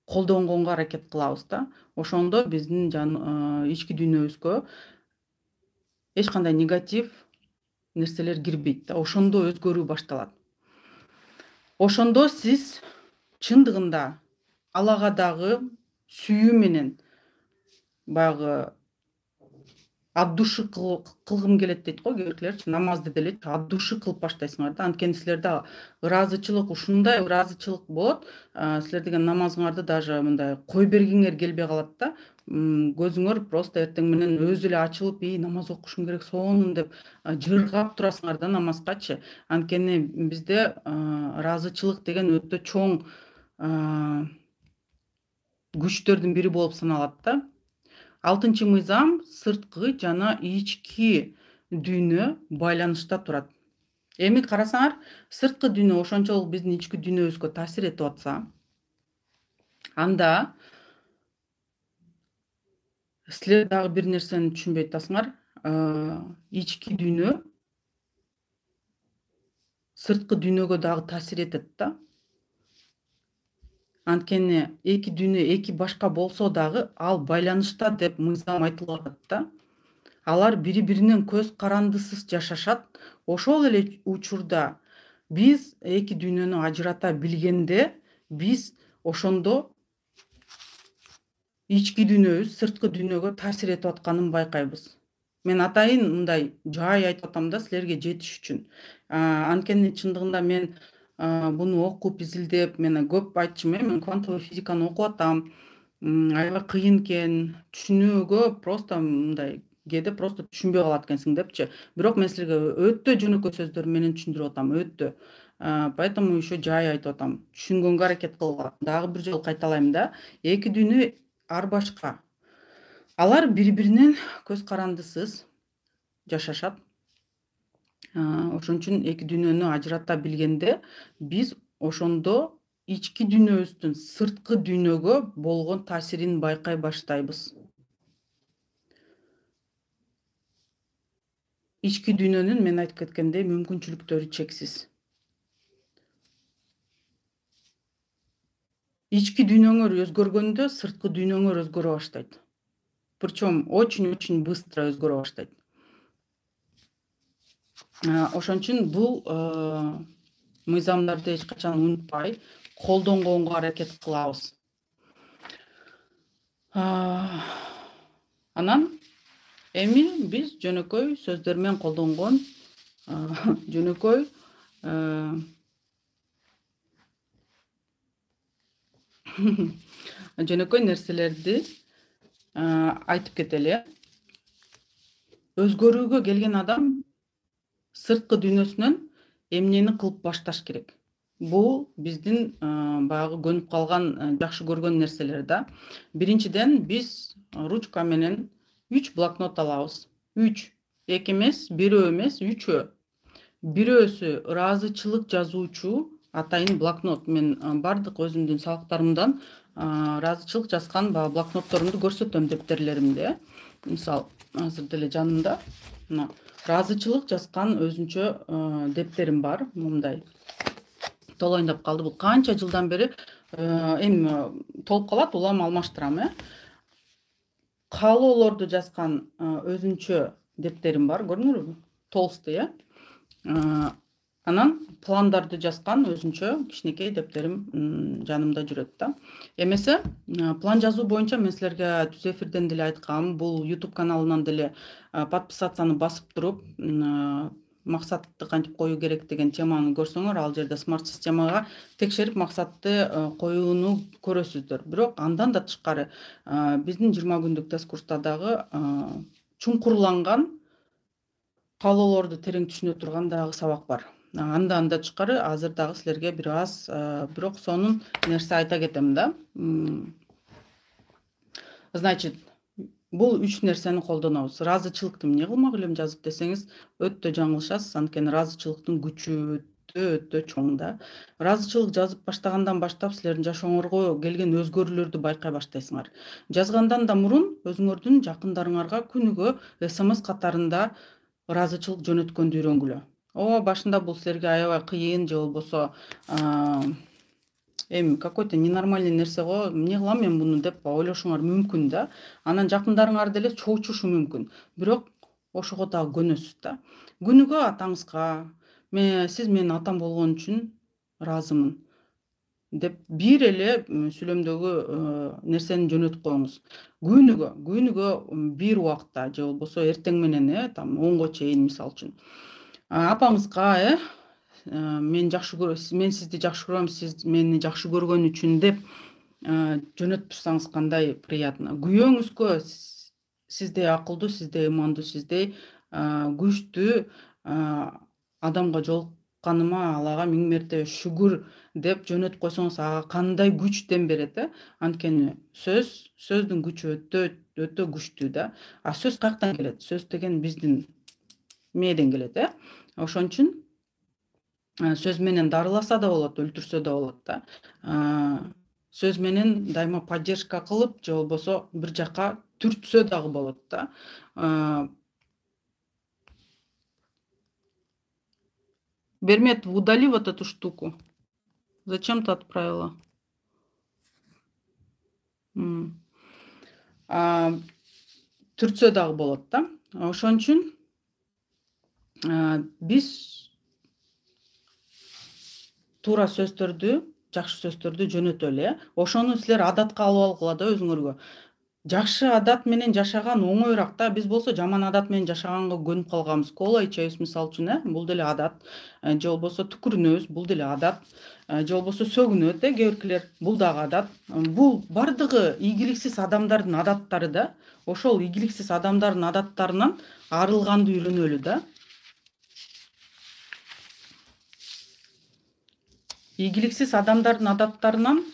колдонгонго аракет кылабыз да. Ошондо биздин ички дүйнөбүзгө эч кандай негатив нерселер кирбейт да. Ошондо өзгөрүү башталат. Ошондо сиз чындыгында Аллага дагы сүйүү менен баягы от души кылгым келет дейт го кээ биркилерчи, намазды деле от души кылып баштайсыңар да. Анткени силерде ыраазычылык, ушундай ыраазычылык болот, силер деген намазыңарды даже мындай кое бергиңер келбей калат да. Көзүңөр просто эртең менен өзү эле ачылып, "И, намаз окушум керек сонун" деп жыргап турасыңар да намазгачы. Анткени бизде ыраазычылык деген өтө чоң күчтөрдүн бири болуп саналат да. Алтынчы мыйзам сырткы жана ички дүйнө байланышта турат. Эми карасаңар, сырткы дүйнө ошончолук биздин ички дүйнөбүзгө таасир этип атса, анда силер дагы бир нерсени түшүнбөй атасыңар. Ички дүйнө сырткы дүйнөгө дагы таасир этет да. Анткени эки дүйнө эки башка болсо дагы ал байланышта деп мыйзам айтылып атат да. Алар бири-биринен көз карандысыз жашашат. Ошол эле учурда биз эки дүйнөнү ажырата билгенде, биз ошондо ички дүйнөбүз сырткы дүйнөгө таасир этип атканын байкайбыз. Мен атайын мындай жай айтып атам да силерге жетиш үчүн. Анткени чындыгында мен буну окуп, изилдеп, мен көп айтчумун, мен квантовый физиканы окуп атам. Аябай кыйын экен, түшүнүүгө просто мындай кээде просто түшүнбөй калат экенсиң депчи. Бирок мен силерге өтө жөнөкөй сөздөр менен түшүндүрүп атам, өтө. Поэтому еще жай айтып атам. Түшүнгөнгө аракет кылгыла. Дагы бир жолу кайталайм да. Эки дүйнө ар башка. Алар бири-биринен көз карандысыз жашашат. Ошон үчүн эки дүйнөнү ажырата билгенде, биз ошондо ички дүйнөбүздүн сырткы дүйнөгө болгон таасирин байкай баштайбыз. Ички дүйнөнүн мен айтып кеткендей мүмкүнчүлүктөрү чексиз. Ички дүйнөңөр өзгөргөндө сырткы дүйнөңөр өзгөрө баштайт. Причем очень-очень быстро өзгөрө баштайт. Ошон үчүн бул мыйзамдарды эч качан унутпай, колдонгонго аракет кылабыз. Анан эми биз жөнөкөй сөздөр менен колдонгон жөнөкөй жөнөкөй нерселерди айтып кетели. Өзгөрүүгө келген адам сырткы дүйнөсүнөн эмнени кылып башташ керек? бул биздин баягы көнүп калган жакшы көргөн нерселер да. Биринчиден биз ручка менен үч блокнот алабыз. үч, эки эмес, бирөө эмес, үчөө. Бирөөсү ыраазычылык жазуучу атайын блокнот. Мен бардык өзүмдүн сабактарымдан ыраазычылык жазган баягы блокнотторумду көрсөтөм дептерлеримде. Мисалы, азыр деле жанымда мына ыраазычылык жазган өзүнчө дептерим бар. Мындай толоюндап калды. Бул канча жылдан бери эми толуп калат, улам алмаштырам, э. Каалоолорду жазган өзүнчө дептерим бар, көрдүңөрбү? Толстый, э. Анан пландарды жазган өзүнчө кичинекей дептерим жанымда жүрөт да. Эмесе план жазуу боюнча мен силерге түз эфирден деле айткам, бул YouTube каналынан деле подписацияны басып туруп, максатты кантип коюу керек деген теманы көрсөңөр, ал жерде смарт системага текшерип максатты коюуну көрөсүздөр. Бирок андан да тышкары биздин жыйырма күндүк тест курста дагы чуңкурланган каалоолорду терең түшүнө турган дагы сабак бар. Андан да тышкары азыр дагы силерге бир аз бирок сонун нерсе айта кетем да. Значит, бул үч нерсени колдонобуз. Ыраазычылыкты эмне кылмак элем жазып десеңиз, өтө жаңылышасыз. Анткени ыраазычылыктын күчү өтө өтө чоң да. Ыраазычылык жазып баштагандан баштап силердин жашооңорго келген өзгөрүүлөрдү байкай баштайсыңар. Жазгандан да мурун өзүңөрдүн жакындарыңарга күнүгө смс катарында ыраазычылык жөнөткөндү үйрөнгүлө. О, башында бул силерге аябай кыйын же болбосо эми какой-то ненормальный нерсе го, эмне кылам мен муну деп ойлошуңар мүмкүн да. Анан жакындарыңар деле чоочушу мүмкүн. Бирок ошого дагы көнөсүз да. Күнүгө атаңызга, мен сиз менин атам болгон үчүн ыраазымын деп бир эле сүйлөмдөгү нерсени жөнөтүп коюңуз. Күнүгө, күнүгө бир убакта же болбосо эртең менен, э, там онго чейин мисалы үчүн. Апаңызга, э, мен жакшы көрөм, мен сизди жакшы көрөм, сиз мени жакшы көргөн үчүн деп жөнөтүп турсаңыз кандай приятно. Күйөөңүзгө сиздей акылдуу, сиздей имандуу, сиздей күчтүү адамга жолукканыма Аллага миң мертебе шүгүр деп жөнөтүп койсоңуз, ага кандай күчтен берет, э? Анткени сөз, сөздүн күчү өтө өтө күчтүү да. А сөз каяктан келет? Сөз деген биздин мээден келет, э? Ошон үчүн сөз менен дарыласа да болот, өлтүрсө да болот да. Сөз менен дайыма поддержка кылып, же болбосо бир жака түртсө дагы болот да. Берметов, удали вот эту штуку. Зачем ты отправила? Түртсө дагы болот да. Ошон үчүн биз туура сөздөрдү, жакшы сөздөрдү жөнөтөлү, э. Ошону силер адатка алып алгыла да өзүңөргө. Жакшы адат менен жашаган оңоюраак да. Биз болсо жаман адат менен жашаганга көнүп калганбыз. Кола ичебиз мисалы үчүн, э, бул деле адат. Же болбосо түкүрүнөбүз, бул деле адат. Же болбосо сөгүнөт, э, кээ биркилер, бул дагы адат. Бул бардыгы ийгиликсиз адамдардын адаттары да. Ошол ийгиликсиз адамдардын адаттарынан арылганды үйрөнөлү да. Ийгиликсиз адамдардын адаттарынан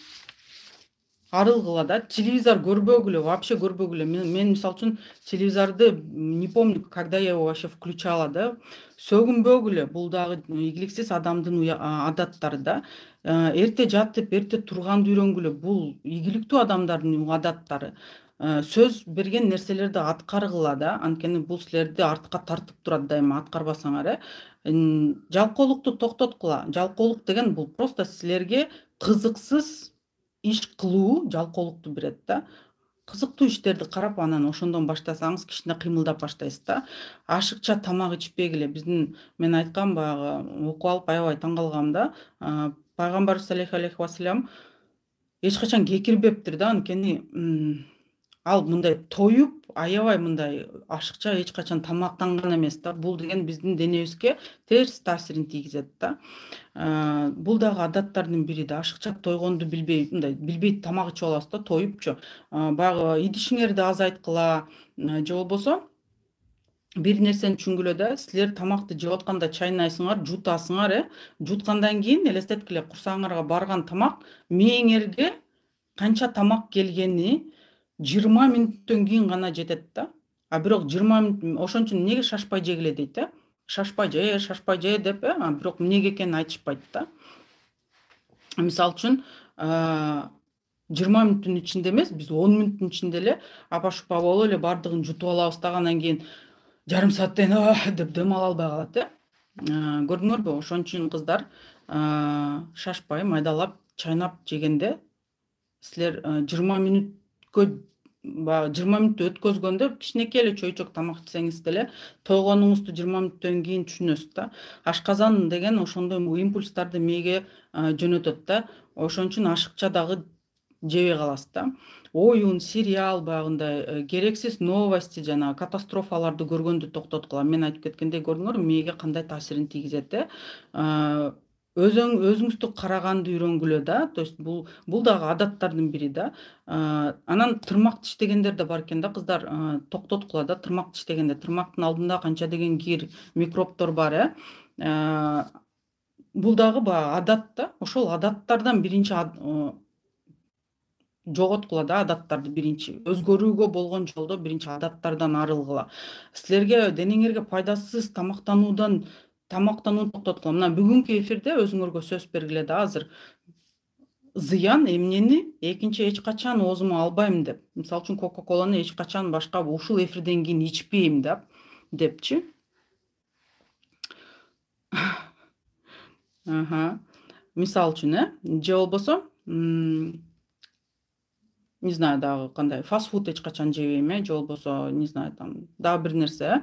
арылгыла да. Телевизор көрбөгүлө, вообще көрбөгүлө. Мен, мен мисалы үчүн телевизорду не помню, когда я его вообще включала да. Сөгүнбөгүлө, бул дагы ийгиликсиз адамдын адаттары да. Эрте жатып, эрте турганды үйрөнгүлө, бул ийгиликтүү адамдардын адаттары. Сөз берген нерселерди аткаргыла да. Анткени бул силерди артка тартып турат дайыма, аткарбасаңар, э. Жалкоолукту токтоткула. Жалкоолук деген бул просто силерге кызыксыз иш кылуу жалкоолукту берет да. Кызыктуу иштерди карап, анан ошондон баштасаңыз кичине кыймылдап баштайсыз да. Ашыкча тамак ичпегиле. Биздин, мен айткам баягы, окуп алып аябай таң калгам да. Пайгамбарыбыз саллаллаху алейхи вассалам эч качан кекирбептир да. Анткени ал мындай тоюп, аябай мындай ашыкча эч качан тамактанган эмес да. Бул деген биздин денебизге терс таасирин тийгизет да. Бул дагы адаттардын бири да. Ашыкча тойгонду билбей, мындай билбей тамак ичип аласыз да, тоюпчу. Баягы идишиңерди азайткыла, же болбосо бир нерсени түшүнгүлө да, силер тамакты жеп атканда чайнайсыңар, жутасыңар, э. Жуткандан кийин элестеткиле, курсагыңарга барган тамак мээңерге канча тамак келгени жыйырма мүнөттөн кийин гана жетет да. А бирок жыйырма мүнөт, ошон үчүн эмнеге шашпай жегиле дейт, э. Шашпай же, шашпай же деп, э. А бирок эмнеге экенин айтышпайт да. Мисалы үчүн, жыйырма мүнөттүн ичинде эмес, биз он мүнөттүн ичинде эле апа-шупа болуп эле бардыгын жутуп алабыз да, андан кийин жарым сааттан кийин деп дем ала албай калат, э. Көрдүңөрбү? Ошон үчүн кыздар шашпай, майдалап, чайнап жегенде силер жыйырма мүнөткө, баягы жыйырма мүнөттү өткөзгөндө кичинекей эле чөйчөк тамак ичсеңиз деле тойгонуңузду жыйырма мүнөттөн кийин түшүнөсүз да. Ашказан деген ошондой импульстарды мээге жөнөтөт да. Ошон үчүн ашыкча дагы жебей каласыз да. Оюн, сериал, баягындай керексиз новости, жана катастрофаларды көргөндү токтоткула. Мен айтып кеткендей, көрдүңөрбү, мээге кандай таасирин тийгизет, э. Өзүң өзүңүздү караганды үйрөнгүлө да. То есть бул бул дагы адаттардын бири да. Анан тырмак тиштегендер да бар экен да, кыздар. Токтоткула да, тырмак тиштегенде. Тырмактын алдында канча деген кир, микробдор бар, э. Бул дагы баягы адат да. Ошол адаттардан биринчи жоготкула да, адаттарды биринчи. Өзгөрүүгө болгон жолдо биринчи адаттардан арылгыла. Силерге денеңерге пайдасыз тамактануудан тамактанууну токтоткула. Мына бүгүнкү эфирде өзүңөргө сөз бергиле да азыр. Зыян эмнени экинчи эч качан оозума албайм деп. Мисалы үчүн кока-коланы эч качан башка ушул эфирден кийин ичпейм деп, депчи. Аха. Мисалы үчүн, э, же болбосо, не знаю, дагы кандай, фастфуд эч качан жебейм, э, же болбосо, не знаю, там дагы бир нерсе,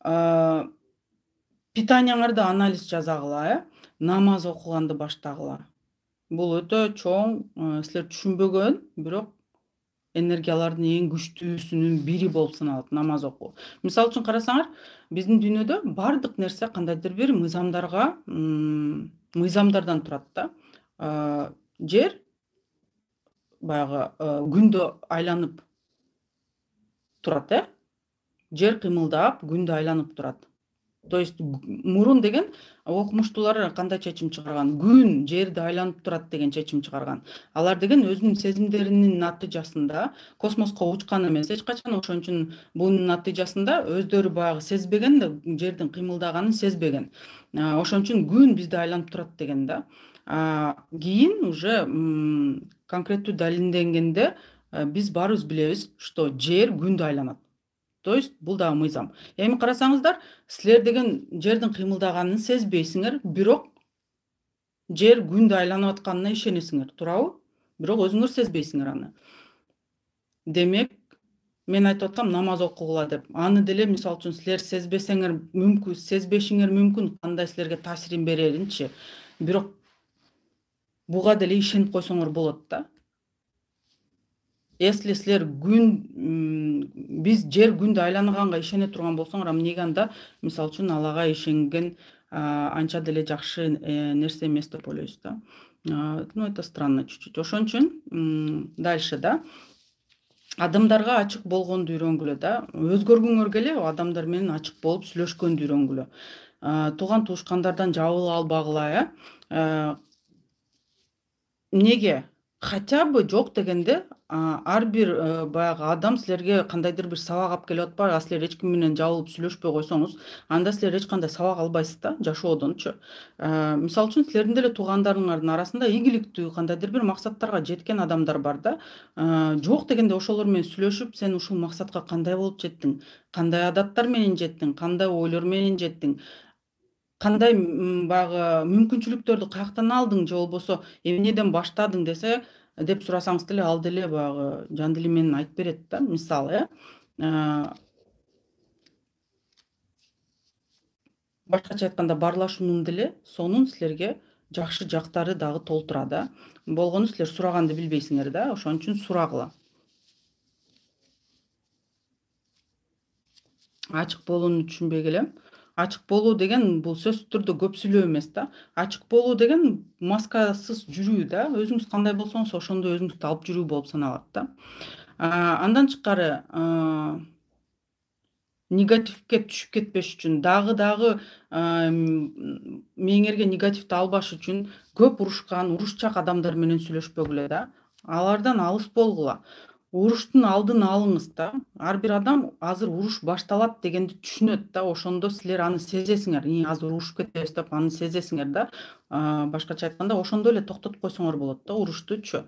э. Питанияңарды анализ жасагыла, э. Намаз окуганды баштагыла. Бул өтө чоң, силер түшүнбөгөн, бирок энергиялардын эң күчтүүсүнүн бири болуп саналат намаз окуу. Мисалы үчүн карасаңар, биздин дүйнөдө бардык нерсе кандайдыр бир мыйзамдарга, мыйзамдардан турат да. Жер баягы күндө айланып турат, э. Жер кыймылдап, күндө айланып турат. То есть мурун деген окумуштуулар кандай чечим чыгарган? Күн жерди айланып турат деген чечим чыгарган. Алар деген өзүнүн сезимдеринин натыйжасында космоско учкан эмес эч качан, ошон үчүн бунун натыйжасында өздөрү баягы сезбеген да, жердин кыймылдаганын сезбеген. Ошон үчүн күн бизди айланып турат деген да. Кийин уже конкреттүү далилденгенде биз баарыбыз билебиз, что жер күндө айланат. То есть бул дагы мыйзам. Эми карасаңыздар, силер деген жердин кыймылдаганын сезбейсиңер, бирок жер күндө айланып атканына ишенесиңер, туурабы? Бирок өзүңөр сезбейсиңер аны. Демек, мен айтып аткам намаз окугула деп. Аны деле мисалы үчүн силер сезбесеңер мүмкүн, сезбешиңер мүмкүн, кандай силерге таасирин береринчи. Бирок буга деле ишенип койсоңор болот да. Если силер күн, биз жер күндө айланганга ишене турган болсоңор, эмнеге анда мисалы үчүн Аллага ишенген анча деле жакшы нерсе эмес деп ойлойсуз да. Ну это странно чуть-чуть. Ошон үчүн дальше да. Адамдарга ачык болгонду үйрөнгүлө да. Өзгөргүңөр келе, адамдар менен ачык болуп сүйлөшкөндү үйрөнгүлө. Тууган туушкандардан жабыла албагыла, э. Эмнеге? Хотя бы жок дегенде ар бир баягы адам силерге кандайдыр бир сабак алып келип атпайбы? А силер эч ким менен жабылып сүйлөшпөй койсоңуз, анда силер эч кандай сабак албайсыз да жашоодончу. Мисалы үчүн силердин деле туугандарыңардын арасында ийгиликтүү кандайдыр бир максаттарга жеткен адамдар бар да. Жок дегенде ошолор менен сүйлөшүп, сен ушул максатка кандай болуп жеттиң? Кандай адаттар менен жеттиң? Кандай ойлор менен жеттиң? Кандай баягы мүмкүнчүлүктөрдү каяктан алдың, же болбосо эмнеден баштадың десе, деп сурасаңыз деле, ал деле баягы жан дили менен айтып берет да, мисалы, э. Башкача айтканда баарлашуунун деле сонун силерге жакшы жактары дагы толтура да. Болгону силер сураганды билбейсиңер да, ошон үчүн сурагыла. Ачык болууну түшүнбөй келем. Ачык болуу деген бул сөзсүз түрдө көп сүйлөө эмес да. Ачык болуу деген маскасыз жүрүү да. Өзүңүз кандай болсоңуз ошондой өзүңүздү алып жүрүү болуп саналат да. Андан тышкары негативге түшүп кетпеш үчүн, дагы дагы мээңерге негативди албаш үчүн көп урушкан, урушчак адамдар менен сүйлөшпөгүлө да. Алардан алыс болгула. Уруштун алдын алыңыз да. Ар бир адам азыр уруш башталат дегенди түшүнөт да. Ошондо силер аны сезесиңер. И азыр урушуп кетебиз деп аны сезесиңер да. Башкача айтканда, ошондо эле токтотуп койсоңор болот да уруштучу.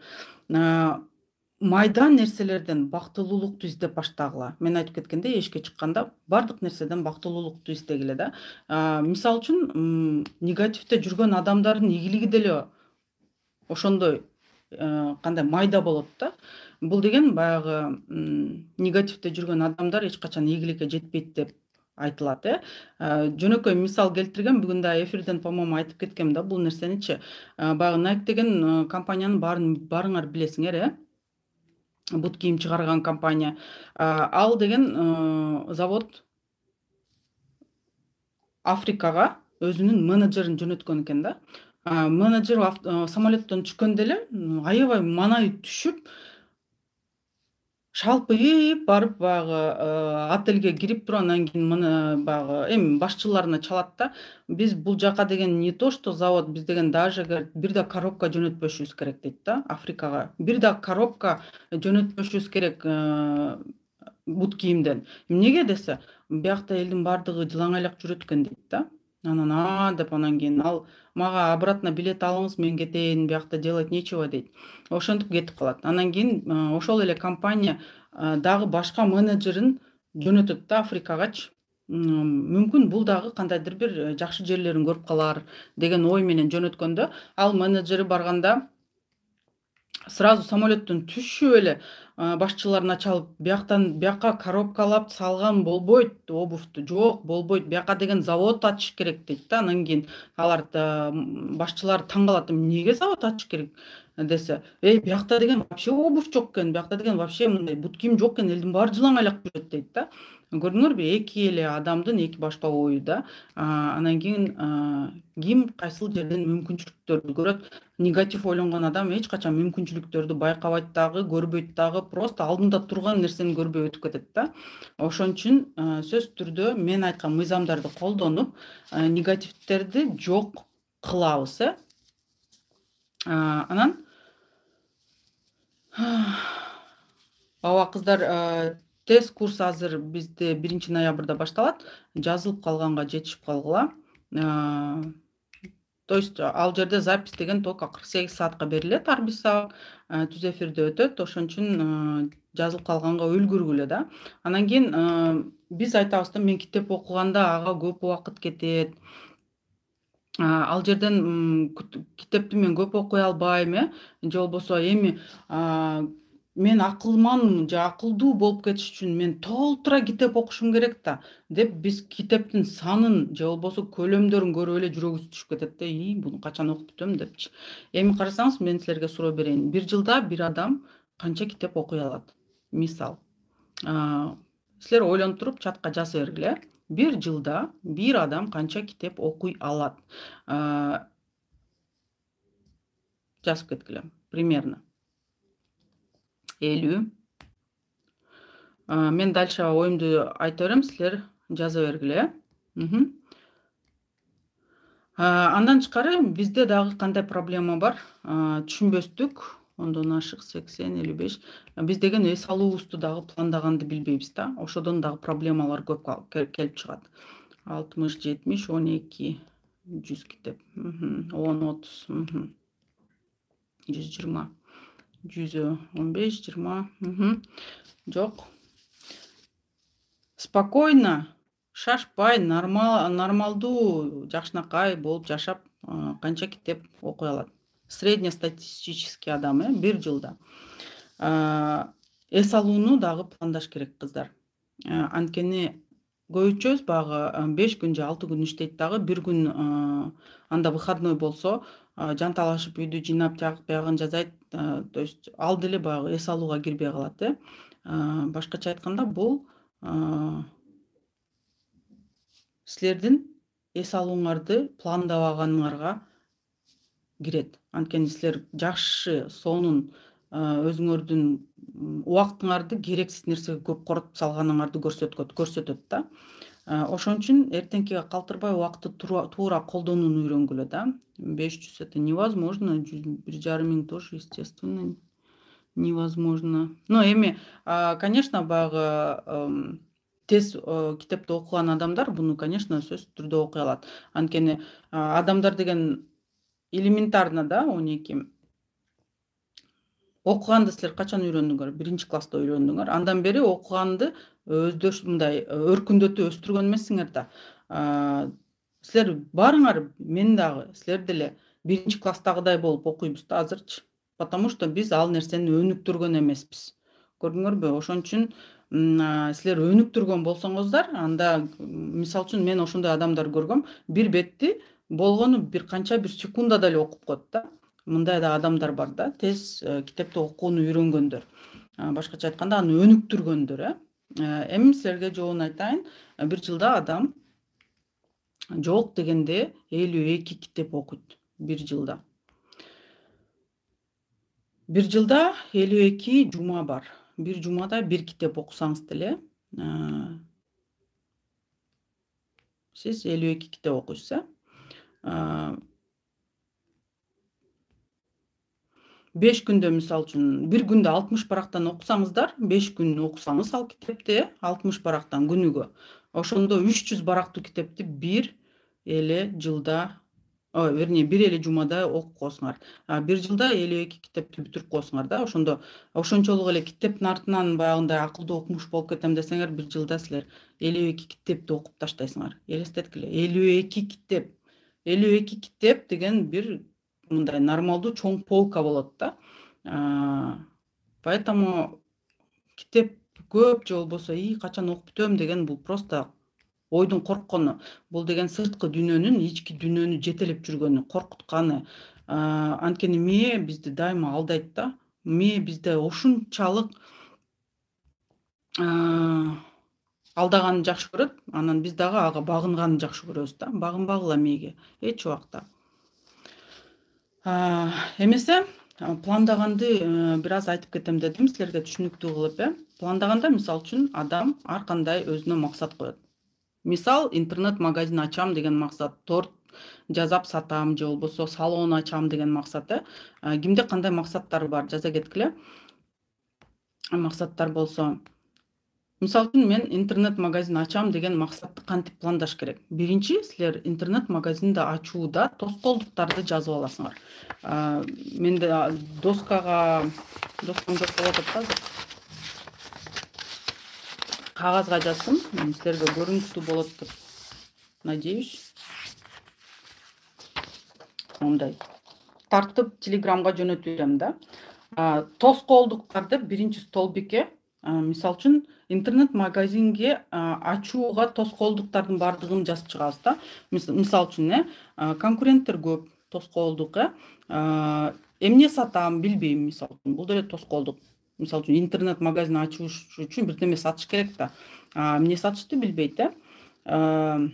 Майда нерселерден бактылуулукту издеп баштагыла. Мен айтып кеткендей, эшикке чыкканда бардык нерседен бактылуулукту издегиле да. Мисалы үчүн, негативде жүргөн адамдардын ийгилиги деле ошондой кандай майда болот да. Бул деген баягы негативде жүргөн адамдар эч качан ийгиликке жетпейт деп айтылат, э. Жөнөкөй мисал келтиргем, бүгүн да эфирден по-моему айтып кеткем да бул нерсеничи. Баягы Nike деген компаниянын баарын баарыңар билесиңер, э. Бут кийим чыгарган компания. Ал деген завод Африкага өзүнүн менеджерин жөнөткөн экен да. Менеджер самолеттон түшкөндө эле аябай маанайы түшүп, шалпайып барып баягы отелге кирип туруп, анан кийин баягы эми башчыларына чалат да. Биз бул жака деген не то что завод, биз деген даже бир да коробка жөнөтпөшүбүз керек дейт да Африкага. Бир да коробка жөнөтпөшүбүз керек бут кийимден. Эмнеге десе, биякта элдин бардыгы жылаңайлак жүрөт экен дейт да. Анан а деп анан кийин ал мага обратно билет алыңыз, мен кетейин, биякта делать нечего дейт. Ошентип кетип калат. Анан кийин ошол эле компания дагы башка менеджерин жөнөтөт да Африкагачы. Мүмкүн бул дагы кандайдыр бир жакшы жерлерин көрүп калар деген ой менен жөнөткөндө, ал менеджери барганда сразу самолеттон түшүп эле башчыларына чалып, бияктан бияка коробкалап салган болбойт обувьту. Жок, болбойт. Бияка деген завод ачыш керек дейт да. Анан кийин алар башчылар таң калат. Эмнеге завод ачыш керек десе, эй, биякта деген вообще обувь жок экен, биякта деген вообще мындай бут кийим жок экен, элдин баары жылаңайлак жүрөт дейт да. Көрдүңөрбү, эки эле адамдын эки башка ою да. Анан кийин ким кайсыл жерден мүмкүнчүлүктөрдү көрөт. Негатив ойлонгон адам эч качан мүмкүнчүлүктөрдү байкабайт дагы, көрбөйт дагы, просто алдында турган нерсени көрбөй өтүп кетет да. Ошон үчүн сөзсүз түрдө мен айткан мыйзамдарды колдонуп, негативдерди жок кылабыз, э. Анан ооба кыздар, тест курс азыр бизде биринчи ноябрда башталат. Жазылып калганга жетишип калгыла. То есть ал жерде запись деген только кырк сегиз саатка берилет, ар бир сабак түз эфирде өтөт. Ошон үчүн жазылып калганга үлгүргүлө да. Анан кийин биз айтабыз да, мен китеп окуганда ага көп убакыт кетет. Ал жерден китепти мен көп окуй албайм, э. Же болбосо эми мен акылман же акылдуу болуп кетиш үчүн мен толтура китеп окушум керек да деп биз китептин санын же болбосо көлөмдөрүн көрүп эле жүрөгүбүз түшүп кетет да. И буну качан окуп бүтөм депчи. Эми карасаңыз, мен силерге суроо берейин. Бир жылда бир адам канча китеп окуй алат? Мисал. Силер ойлонуп туруп чатка жаза бергиле. Бир жылда бир адам канча китеп окуй алат? Жазып кеткиле. Примерно. элүү. Мен дальше оюмду айта берем, силер жаза бергиле. Андан тышкары бизде дагы кандай проблема бар? Түшүнбөстүк, ондон ашык сексен, элүү беш. Биз деген эс алуубузду дагы пландаганды билбейбиз да. Ошодон дагы проблемалар көп келип чыгат. алтымыш, жетимиш, он эки, жүз китеп. он, отуз, жүз жыйырма. жүз он беш, жыйырма. Жок. Спокойно, шашпай, нормалдуу, жакшынакай болуп жашап, канча китеп окуй алат? Среднестатистический адам, э, бир жылда. Эс алууну дагы пландаш керек, кыздар. Анткени көбүнчөбүз багы беш күн же алты күн иштейт дагы, бир күн анда выходной болсо, жанталашып үйдү жыйнап, тияк биягын жазайт. То есть ал деле баягы эс алууга кирбей калат, э. Башкача айтканда, бул силердин эс алууңарды пландабаганыңарга кирет. Анткени силер жакшы сонун өзүңөрдүн убактыңарды керексиз нерсеге көп коротуп салганыңарды көрсөткөт көрсөтөт да. Ошон үчүн эртеңкиге калтырбай убакытты туура колдонууну үйрөнгүлө да. беш жүз это невозможно, бир жарым миң тоже естественно невозможно. Но эми конечно баягы тез китепти окуган адамдар буну конечно сөзсүз түрдө окуй алат. Анткени адамдар деген элементарно да он эки окуганды силер качан үйрөндүңөр? Биринчи класста үйрөндүңөр. Андан бери окуганды өздөш мындай өркүндөтүп өстүргөн эмессиңер да. Силер баарыңар, мен дагы, силер деле биринчи класстагыдай болуп окуйбуз да азырчы. Потому что биз ал нерсени өнүктүргөн эмеспиз. Көрдүңөрбү? Ошон үчүн силер өнүктүргөн болсоңуздар, анда мисалы үчүн мен ошондой адамдар көргөм. Бир бетти болгону бир канча бир секундада эле окуп коет да. Мындай да адамдар бар да, тез китепти окууну үйрөнгөндөр. Башкача айтканда аны өнүктүргөндөр, э. Эми силерге жообун айтайын. Бир жылда адам жок дегенде элүү эки китеп окуйт бир жылда. Бир жылда элүү эки жума бар. Бир жумада бир китеп окусаңыз деле, сиз элүү эки китеп окуйсуз, э. беш күндө мисалы үчүн бир күндө алтымыш барактан окусаңыздар, беш күн окусаңыз ал китепти алтымыш барактан күнүгө. Ошондо үч жүз барактуу китепти бир эле жылда, ой, вернее, бир эле жумада окуп коесуңар. Бир жылда элүү эки китепти бүтүрүп коесуңар да. Ошондо ошончолук эле китептин артынан баягындай акылдуу окумуш болуп кетем десеңер, бир жылда силер элүү эки китепти окуп таштайсыңар. Элестеткиле, элүү эки китеп. элүү эки китеп деген бир мындай нормалдуу чоң полка болот да. Поэтому китеп көп же болбосо и качан окуп бүтөм деген бул просто ойдун корккону. Бул деген сырткы дүйнөнүн, ички дүйнөнү жетелеп жүргөнү, коркутканы. Анткени мээ бизди дайыма алдайт да. Мээ бизде ушунчалык алдаганы жакшы көрөт, анан биз дагы ага багынганы жакшы көрөбүз да. Багынбагыла мээге эч убакта. Эмесе пландаганды бир аз айтып кетем дедим силерге түшүнүктүү кылып, э. Пландаганда мисалы үчүн адам ар кандай өзүнө максат коет. Мисал, интернет-магазин ачам деген максат, торт жасап сатам же болбосо салон ачам деген максат, э. Кимде кандай максаттар бар, жаза кеткиле. Максаттар болсо, мисалы үчүн мен интернет-магазин ачам деген максатты кантип пландаш керек? Биринчи, силер интернет-магазинди ачууда тоскоолдуктарды жазып аласыңар. Менде доскага, доскам жок болуп атат да азыр. Кагазга жаздым. Силерге көрүнүктүү болот деп надеюсь. Мындай тартып Телеграмга жөнөтүп берем да. Тоскоолдуктарды биринчи столбикке, мисалы үчүн интернет-магазинге ачууга тоскоолдуктардын бардыгын жазып чыгабыз да. Мисалы үчүн, э, конкуренттер көп, тоскоолдук, э. Эмне сатам, билбейм, мисалы үчүн. Бул деле тоскоолдук. Мисалы үчүн интернет-магазин ачыш үчүн бирдеме сатыш керек да. Эмне сатышты билбейт, э.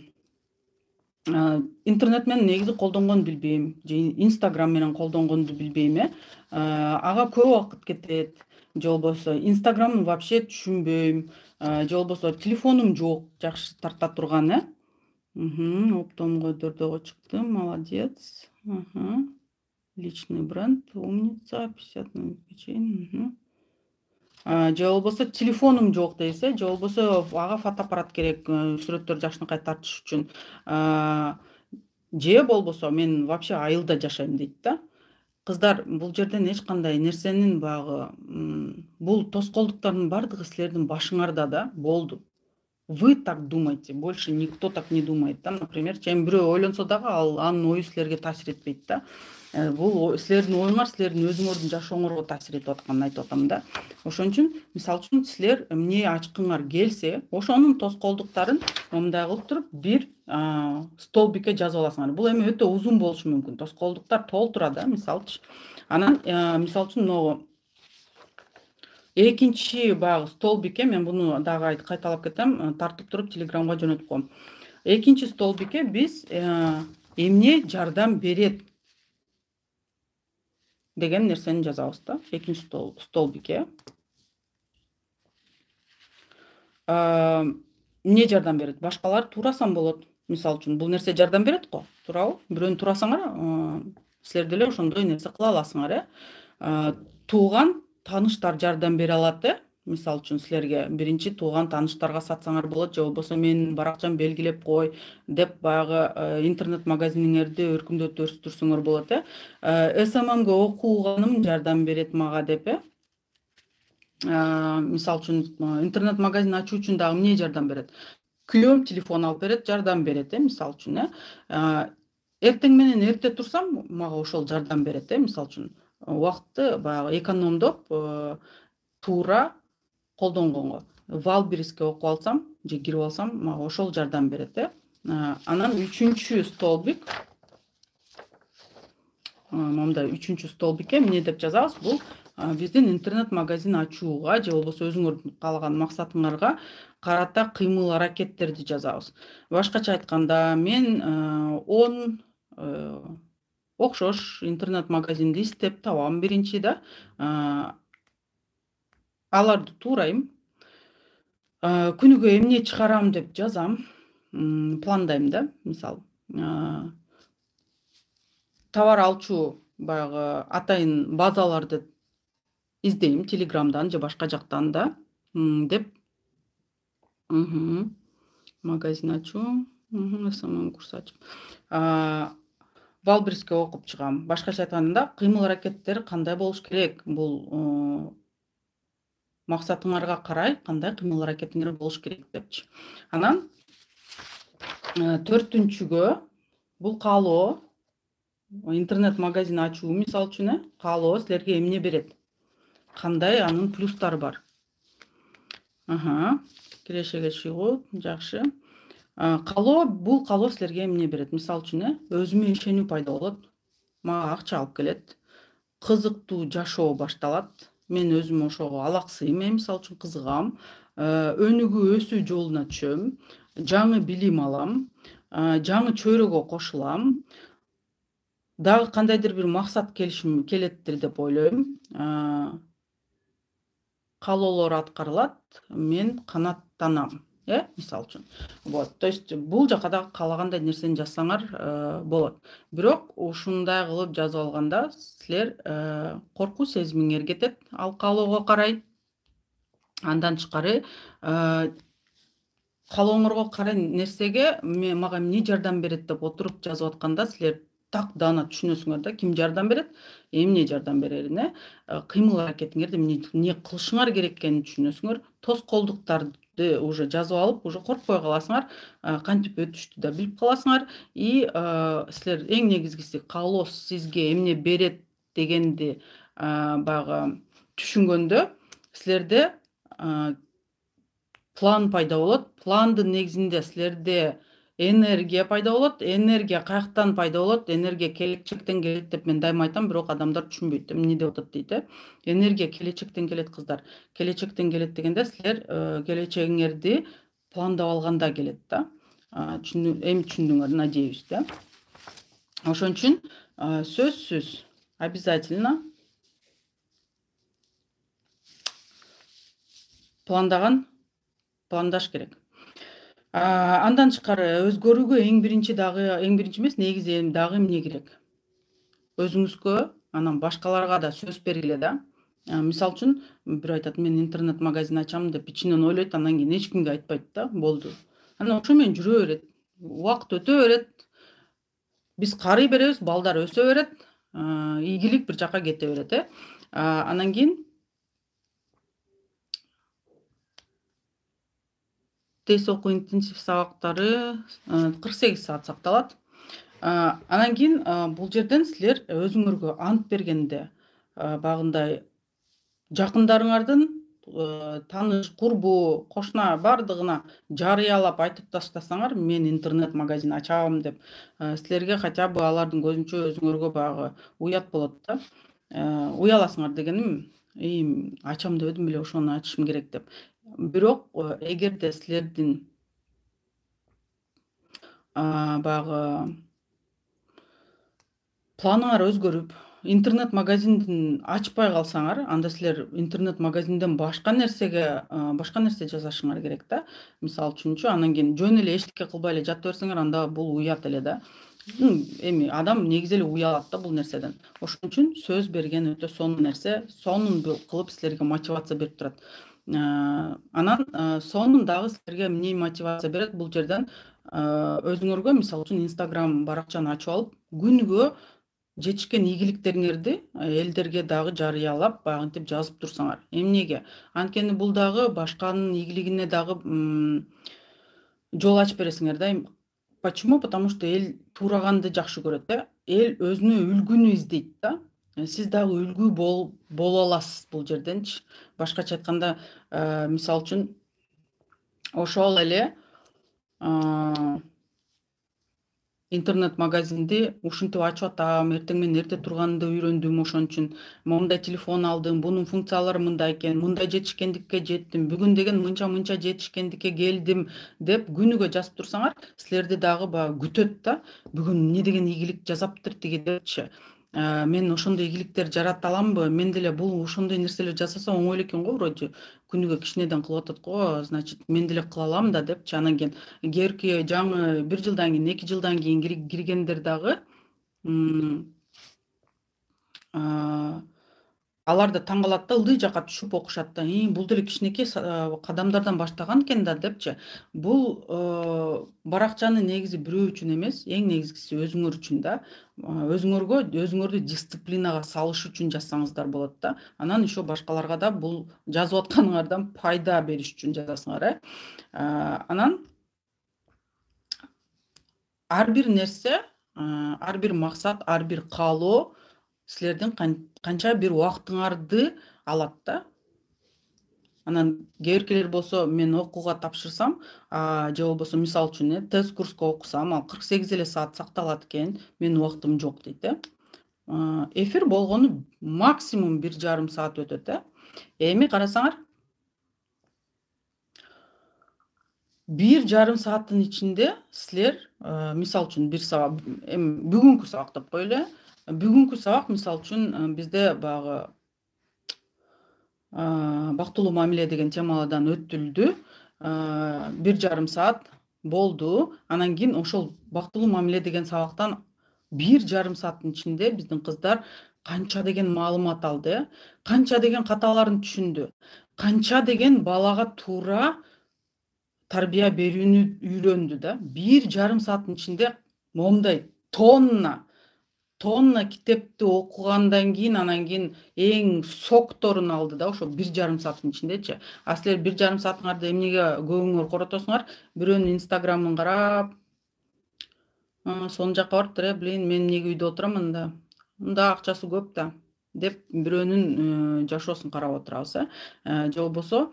Интернет менен негизи колдонгонду билбейм, же Инстаграм менен колдонгонду билбейм, э. Ага көп убакыт кетет. Же болбосо Инстаграмды вообще түшүнбөйм, же болбосо телефонум жок, жакшы тарта турган, э. Оптомго дөрдөгө чыктым, молодец. Личный бренд, умница, пятьдесят на печень. Же болбосо телефонум жок дейсиз, же болбосо ага фотоаппарат керек, сүрөттөр жакшынакай тартыш үчүн. Же болбосо мен вообще айылда жашайм дейт да. Кыздар, бул жерден эч кандай нерсенин багы, бул тоскоолдуктардын бардыгы силердин башыңарда да, болду. Вы так думаете, больше никто так не думает да. Например, эми бирөө ойлонсо дагы ал анын ою силерге таасир этпейт да. Бул силердин оюңар силердин өзүңөрдүн жашооңорго таасир этип атканын айтып атам да. Ошон үчүн мисалы үчүн силер эмне ачкыңар келсе, ошонун тоскоолдуктарын мындай кылып туруп бир столбикке жазып аласыңар. Бул эми өтө узун болушу мүмкүн. Тоскоолдуктар толтура да, мисалычы. Анан мисалы үчүн могу экинчи баягы столбикке, мен буну дагы кайталап кетем, тартып туруп Телеграмга жөнөтүп коем. Экинчи столбикке биз эмне жардам берет? деген нерсени жазабыз да. Экинчи стол столбикке. Эмне жардам берет? Башкалар туурасаң болот. Мисалы үчүн бул нерсе жардам берет го, туурабы? Бирөөнү туурасаңар, силер деле ошондой нерсе кыла аласыңар, э. Тууган тааныштар жардам бере алат, э. Мисалы үчүн силерге биринчи тууган тааныштарга сатсаңар болот, же болбосо менин баракчамды белгилеп кой деп баягы интернет магазиниңерди өркүндөтүп өстүрсөңөр болот, э. эс эм эмге окуганым жардам берет мага деп, э. Мисалы үчүн интернет магазин ачуу үчүн дагы эмне жардам берет? Күйөөм телефон алып берет, жардам берет, э, мисалы үчүн, э. Эртең менен эрте турсам, мага ошол жардам берет, э, мисалы үчүн. Убакытты баягы экономдоп, туура колдонгонго. Валбериске окуп алсам же кирип алсам, мага ошол жардам берет, э. Анан үчүнчү столбик. Мындай үчүнчү столбикке эмне деп жазабыз? Бул биздин интернет магазин ачууга же болбосо өзүңөрдүн каалаган максатыңарга карата кыймыл аракеттерди жазабыз. Башкача айтканда, мен он окшош интернет магазинди издеп табам биринчи да. Аларды туурайм. Күнүгө эмне чыгарам деп жазам, пландайм да. Мисалы, товар алчу баягы атайын базаларды издейм Телеграмдан же башка жактан да, деп. Магазин ачуу, эс эм эм курс ачып. Валбериске окуп чыгам. Башкача айтканда, кыймыл аракеттер кандай болуш керек? Бул максатыңарга карай кандай кыймыл аракетиңер болуш керек депчи. Анан төртүнчүгө бул каалоо, интернет магазин ачуу мисалы үчүн, э, каалоо силерге эмне берет? Кандай анын плюстары бар? Аха, кирешеге чыгуу, жакшы. Каалоо, бул каалоо силерге эмне берет? Мисалы үчүн, э, өзүмө ишенүү пайда болот. Мага акча алып келет. Кызыктуу жашоо башталат. Мен өзүм ошого алаксыйм, э, мисалы үчүн кызыгам. Өнүгүү өсүү жолуна түшөм. Жаңы билим алам. Жаңы чөйрөгө кошулам. Дагы кандайдыр бир максат келишим келеттир деп ойлойм. Каалоолор аткарылат, мен канааттанам, э, мисалы үчүн. Вот, то есть бул жака да каалагандай нерсени жазсаңар болот. Бирок ушундай кылып жазып алганда силер коркуу сезимиңер кетет ал каалоого карай. Андан тышкары, каалооңорго карай нерсеге мага эмне жардам берет деп отуруп жазып атканда силер так даана түшүнөсүңөр да, ким жардам берет, эмне жардам берерин, э. Кыймыл аракетиңерди эмне кылышыңар керек экенин түшүнөсүңөр. Тоскоолдуктарды уже жазып алып, уже коркпой каласыңар, кантип өтүштү да билип каласыңар. И силер эң негизгиси каалоо сизге эмне берет дегенди баягы түшүнгөндө силерде план пайда болот. Пландын негизинде силерде энергия пайда болот. Энергия каяктан пайда болот? Энергия келечектен келет деп мен дайыма айтам, бирок адамдар түшүнбөйт. Эмне деп атат дейт, э. Энергия келечектен келет кыздар. Келечектен келет дегенде силер келечегиңерди пландап алганда келет да. Эми түшүндүңөр, надеюсь, да. Ошон үчүн сөзсүз обязательно пландаган, пландаш керек. Андан тышкары өзгөрүүгө эң биринчи дагы, эң биринчи эмес, негизи дагы эмне керек? Өзүңүзгө, анан башкаларга да сөз бергиле да. Мисалы үчүн, бирөө айтат, мен интернет магазин ачам деп ичинен ойлойт, анан кийин эч кимге айтпайт да, болду. Анан ошо менен жүрө берет. Убакыт өтө берет. Биз карый беребиз, балдар өсө берет. Ийгилик бир жака кете берет, э. Анан кийин тез окуу интенсив сабактары кырк сегиз саат сакталат. Анан кийин бул жерден силер өзүңөргө ант бергенде багындай жакындарыңардын, тааныш, курбу, кошуна бардыгына жарыялап айтып таштасаңар, мен интернет магазин ачам деп, силерге хотя бы алардын көзүнчө өзүңөргө баягы уят болот да. Уяласыңар дегеним, и ачам деп эдим беле, ошону ачышым керек деп. Бирок эгерде силердин баягы планыңар өзгөрүп, интернет магазиндин ачпай калсаңар, анда силер интернет магазинден башка нерсеге башка нерсе жасашыңар керек да. Мисалы үчүнчү, анан кийин жөн эле эчтеке кылбай эле жата берсеңер, анда бул уят эле да. Эми адам негизи эле уялат да бул нерседен. Ошон үчүн сөз берген өтө сонун нерсе, сонун кылып силерге мотивация берип турат. Анан сонун дагы силерге эмне мотивация берет бул жерден? Өзүңөргө мисалы үчүн Instagram баракчаны ачып алып, күнүгө жетишкен ийгиликтериңерди элдерге дагы жарыялап, баягынтип жазып турсаңар. Эмнеге? Анткени бул дагы башканын ийгилигине дагы жол ачып бересиңер да. Почему? Потому что эл туураганды жакшы көрөт да. Эл өзүнө үлгүнү издейт да. Сиз дагы үлгү боло аласыз бул жерденчи. Башкача айтканда, мисалы үчүн ошол эле интернет магазинди ушинтип ачып атам, эртең менен эрте турганды үйрөндүм, ошон үчүн мондай телефон алдым, бунун функциялары мындай экен, мындай жетишкендикке жеттим, бүгүн деген мынча-мынча жетишкендикке келдим деп күнүгө жазып турсаңар, силерди дагы баягы күтөт да. Бүгүн эмне деген ийгилик жасаптыр тиги депчи. Мен ошондой ийгиликтер жарата аламбы? Мен деле бул ошондой нерселер жасасам оңой эле экен го, вроде. Күнүгө кичинеден кылып атат го, значит, мен деле кыла алам да депчи. Анан кийин кийинки жаңы бир жылдан кийин, эки жылдан кийин киргендер дагы алар да таң калат да, ылдый жакка түшүп окушат да. Бул деле кичинекей кадамдардан баштаган экен да депчи. Бул баракчаны негизи бирөө үчүн эмес, эң негизгиси өзүңөр үчүн да. Өзүңөргө, өзүңөрдү дисциплинага салыш үчүн жазсаңыздар болот да. Анан ещё башкаларга да бул жазып атканыңардан пайда бериш үчүн жазасыңар, э. Анан ар бир нерсе, ар бир максат, ар бир каалоо силердин канча бир убактыңарды алат да. Анан кээ-биркилер болсо мен окууга тапшырсам, же болбосо мисалы үчүн тест курска окусам, ал кырк сегиз эле саат сакталат экен, менин убактым жок дейт, э. Эфир болгону максимум бир жарым саат өтөт, э. Эми карасаңар, бир жарым сааттын ичинде силер, мисалы үчүн бир сабак, эми бүгүнкү сабак деп коелу, э. Бүгүнкү сабак мисалы үчүн бизде баягы бактылуу мамиле деген темадан өтүлдү. бир жарым саат болду. Анан кийин ошол бактылуу мамиле деген сабактан бир жарым сааттын ичинде биздин кыздар канча деген маалымат алды, э. Канча деген каталарын түшүндү. Канча деген балага туура тарбия берүүнү үйрөндү да. бир жарым сааттын ичинде момундай тонна тонна китепти окугандан кийин анан кийин эң сокторун алды да, ошо бир жарым сааттын ичиндечи. А силер бир жарым саатыңарды эмнеге көбүңөр коротосуңар? Бирөөнүн инстаграмын карап, сонун жакка барыптыр, э, блин, мен эмнеге үйдө отурам анда? Мында акчасы көп да деп бирөөнүн жашоосун карап отурабыз, э. Же болбосо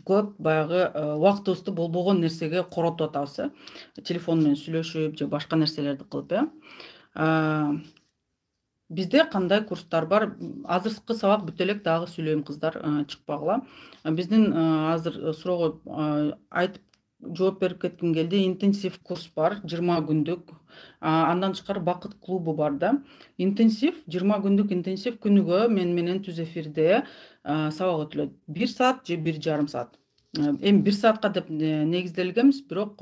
көп баягы убактыбызды болбогон нерсеге коротуп атабыз, э. Телефон менен сүйлөшүп же башка нерселерди кылып, э. Бизде кандай курстар бар? Азыркы сабак бүтө элек дагы сүйлөйм, кыздар, чыкпагыла. Биздин азыр суроого айтып жооп берип кетким келди. Интенсив курс бар, жыйырма күндүк. Андан тышкары бакыт клубу бар да. Интенсив, жыйырма күндүк интенсив күнүгө мен менен түз эфирде сабак өтүлөт. бир саат же бир жарым саат. Эми бир саатка деп негизделгенбиз, бирок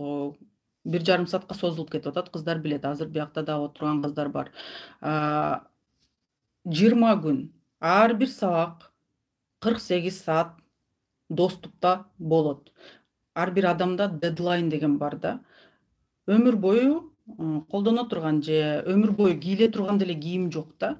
бир жарым саатка созулуп кетип атат. Кыздар билет, азыр биякта дагы отурган кыздар бар. жыйырма күн, ар бир сабак кырк сегиз саат доступта болот. Ар бир адамда дедлайн деген бар да. Өмүр бою колдоно турган же өмүр бою кийле турган деле кийим жок да.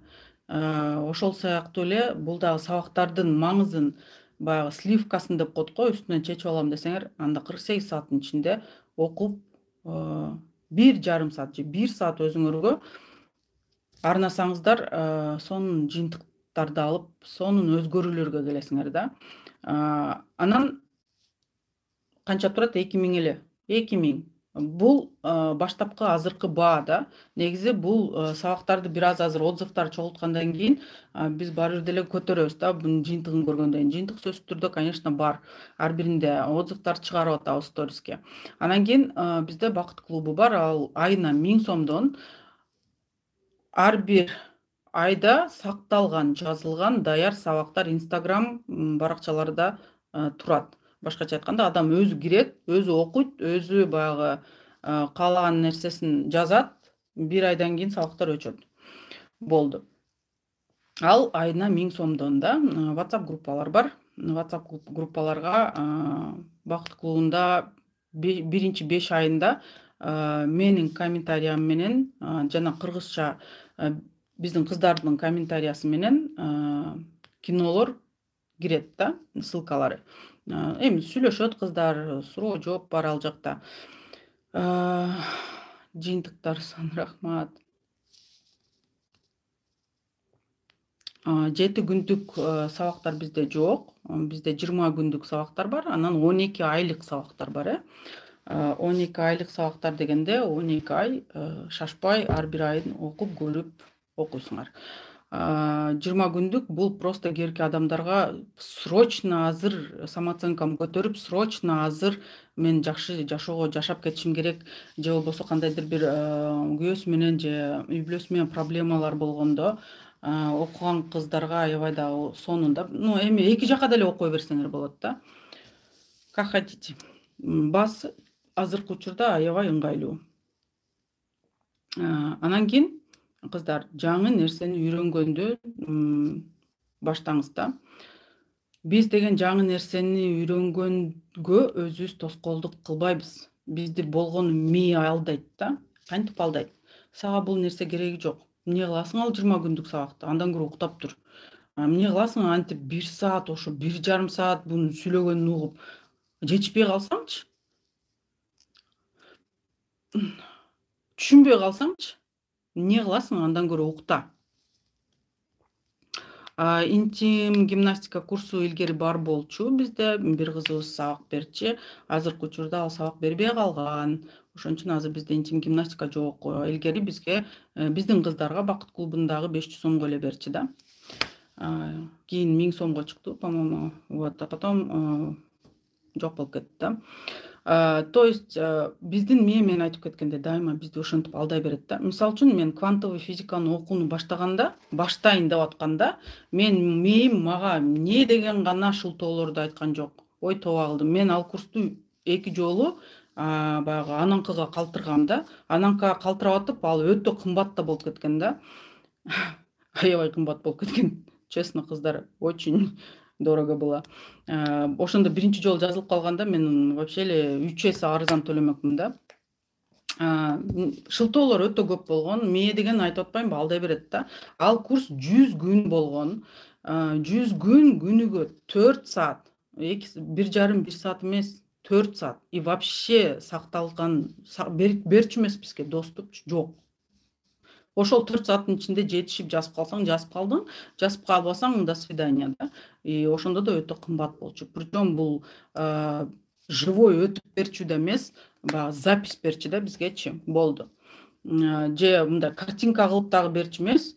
Ошол сыяктуу эле бул дагы сабактардын маңызын баягы сливкасын деп коет го, үстүнөн чечип алам десеңер, анда кырк сегиз сааттын ичинде окуп, бир жарым саат же бир саат өзүңөргө арнасаңыздар, сонун жыйынтыктарды алып, сонун өзгөрүүлөргө келесиңер да. Анан канча турат? эки миң эле. эки миң. Бул баштапкы азыркы баа да. Негизи бул сабактарды бир аз азыр отзывдар чогулткандан кийин биз баары бир деле көтөрөбүз да, бунун жыйынтыгын көргөндөн кийин. Жыйынтык сөзсүз түрдө, конечно, бар. Ар биринде отзывдар чыгарып атабыз сториске. Анан кийин бизде бакыт клубу бар. Ал айына миң сомдон ар бир айда сакталган, жазылган даяр сабактар Instagram баракчаларда турат. Башкача айтканда, адам өзү кирет, өзү окуйт, өзү баягы каалаган нерсесин жазат, бир айдан кийин сабактар өчөт. Болду. Ал айына миң сомдон да. WhatsApp группалар бар. WhatsApp группаларга Бакыт клубунда биринчи беш айында менин комментариям менен жана кыргызча биздин кыздардын комментариясы менен кинолор кирет да, ссылкалары. Эми сүйлөшөт кыздар, суроо жооп бар ал жакта. Жыйынтыктар сан рахмат. жети күндүк сабактар бизде жок. Бизде жыйырма күндүк сабактар бар, анан он эки айлык сабактар бар, э. он эки айлык сабактар дегенде он эки ай шашпай ар бир айын окуп көрүп окуйсуңар. жыйырма күндүк бул просто кээинки адамдарга срочно азыр самооценкам көтөрүп, срочно азыр мен жакшы жашоого жашап кетишим керек, же болбосо кандайдыр бир күйөөсү менен же үй бүлөсү менен проблемалар болгондо окуган кыздарга аябай дагы сонунда, ну эми эки жака деле окуй берсеңер болот да. Как хотите. Баз азыркы учурда аябай ыңгайлуу. Анан кийин кыздар жаңы нерсени үйрөнгөндү баштаңыз да. Биз деген жаңы нерсени үйрөнгөнгө өзүбүз тоскоолдук кылбайбыз. Бизди болгону мээ алдайт да. Кантип алдайт? Сага бул нерсе кереги жок. Эмне кыласың ал жыйырма күндүк сабакты? Андан көрө уктап тур. Эмне кыласың антип бир саат, ошо бир жарым саат буну сүйлөгөнүн угуп жетишпей калсаңчы? Түшүнбөй калсаңчы? Эмне кыласың андан көрө укта. Интим гимнастика курсу илгери бар болчу бизде, бир кызыбыз сабак берчи. Азыркы учурда ал сабак бербей калган. Ошон үчүн азыр бизде интим гимнастика жок. Илгери бизге биздин кыздарга Бакыт клубундагы беш жүз сомго эле берчи да. Кийин миң сомго чыкты, по-моему. Вот, а потом жок болуп кетти да. То есть биздин мээ мен айтып кеткенде дайыма бизди ошентип алдай берет да. Мисалы үчүн мен квантовый физиканы окууну баштаганда, баштайын деп атканда, мен мээм мага эмне деген гана шылтоолорду айткан жок. Ой тоба кылдым. Мен ал курсту эки жолу баягы ананкыга калтыргам да. Ананкыга калтырап атып, ал өтө кымбат да болуп кеткен да. Аябай кымбат болуп кеткен. Честно, кыздар, очень дорого было. Ошондо биринчи жолу жазылып калганда мен вообще эле үч эсе арзан төлөмөкмүн да. Шылтоолор өтө көп болгон. Мээ деген айтып атпаймынбы, алдай берет да. Ал курс жүз күн болгон. жүз күн күнүгө төрт саат. бир жарым бир саат эмес, төрт саат. И вообще сакталган берчү эмес бизге доступ жок. Ошол төрт сааттын ичинде жетишип жазып калсаң, жазып калдың, жазып калбасаң до свидания да. И ошондо да өтө кымбат болчу. Причем бул живой өтүп берчү да эмес, баягы запись берчи да бизгечи. Болду. Же мындай картинка кылып дагы берчү эмес.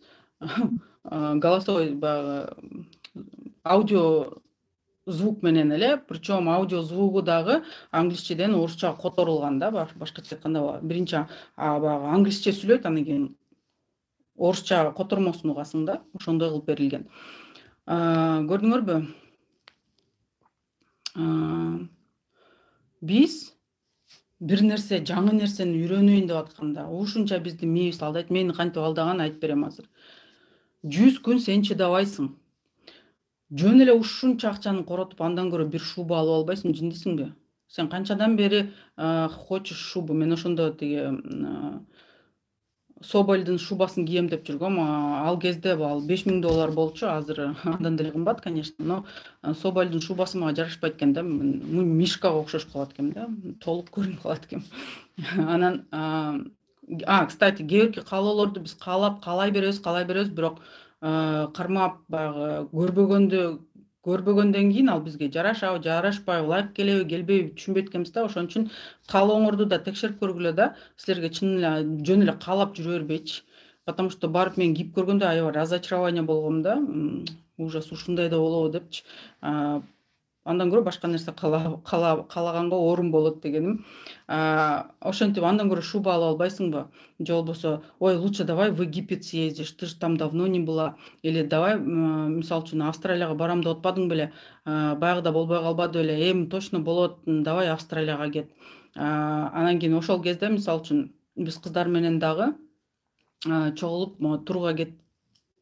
Голосовой баягы аудио звук менен эле, причем аудио звугу дагы англисчеден орусчага которулган да, башкача айтканда биринчи баягы англисче сүйлөйт, анан кийин орусча котормосун угасың да, ошондой кылып берилген. Көрдүңөрбү? Биз бир нерсе, жаңы нерсени үйрөнөйүн деп атканда, ушунча бизди мээбиз алдайт. Мени кантип алдаганын айтып берем азыр. жүз күн сен чыдабайсың. Жөн эле ушунча акчаны коротуп, андан көрө бир шуба алып албайсың, жиндисиңби? Сен канчадан бери хочешь шубу? Мен ошондо тиги Собольдун шубасын кийем деп жүргөм. Ал кезде ал беш миң доллар болчу, азыр андан деле кымбат, конечно, но Собольдун шубасы мага жарашпайт экен да. Мишкага окшош калат экем да, толук көрүнүп калат экем. Анан а, кстати, кээинки каалоолорду биз каалап каалай беребиз, каалай беребиз, бирок кармап баягы көрбөгөндө көрбөгөндөн кийин ал бизге жарашабы, жарашпайбы, лайк келеби, келбейби түшүнбөйт экенбиз да. Ошон үчүн каалооңорду да текшерип көргүлө да, силерге чын эле жөн эле каалап жүрө бербейчи. Потому что барып мен кийип көргөндө аябай разочарование болгом да. Ужас, ушундай да болобу депчи. андан көрө башка нерсе каалаганга орун болот дегеним. Ошентип андан көрө шуба алып албайсыңбы? Же болбосо ой, лучше давай в Египет съездишь, ты же там давно не была. Или давай мисалы үчүн Австралияга барам деп атпадың беле? Баягыда болбой калбады беле? Эми точно болот, давай Австралияга кет. Анан кийин ошол кезде мисалы үчүн биз кыздар менен дагы чогулуп турга кет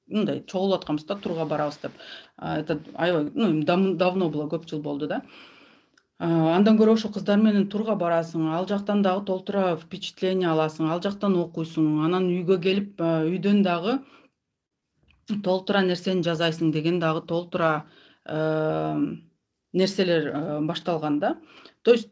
мындай чогулуп атканбыз да, турга барабыз деп. Это аябай, ну, давно было, көп жыл болду да. Андан көрө ошо кыздар менен турга барасың, ал жактан дагы толтура впечатление аласың, ал жактан окуйсуң, анан үйгө келип үйдөн дагы толтура нерсени жазайсың деген дагы толтура нерселер башталган да. То есть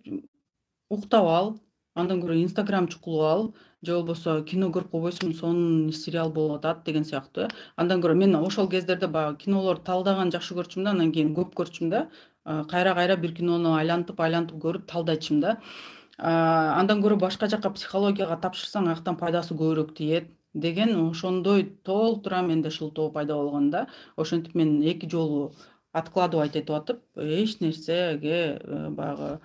уктап ал, андан көрө Инстаграм чукулуп ал, же болбосо кино көрүп койбойсуң, сонун сериал болуп атат деген сыяктуу. Андан көрө мен ошол кездерде баягы кинолорду талдаган жакшы көрчүмүн да, анан кийин көп көрчүм да. Кайра-кайра бир кинону айлантып-айлантып көрүп талдайчымын да. Андан көрө башка жакка психологияга тапшырсаң, аяктан пайдасы көбүрөөк тиет деген ошондой толтура менде шылтоо пайда болгон да. Ошентип мен эки жолу откладывать этип атып, эч нерсеге баягы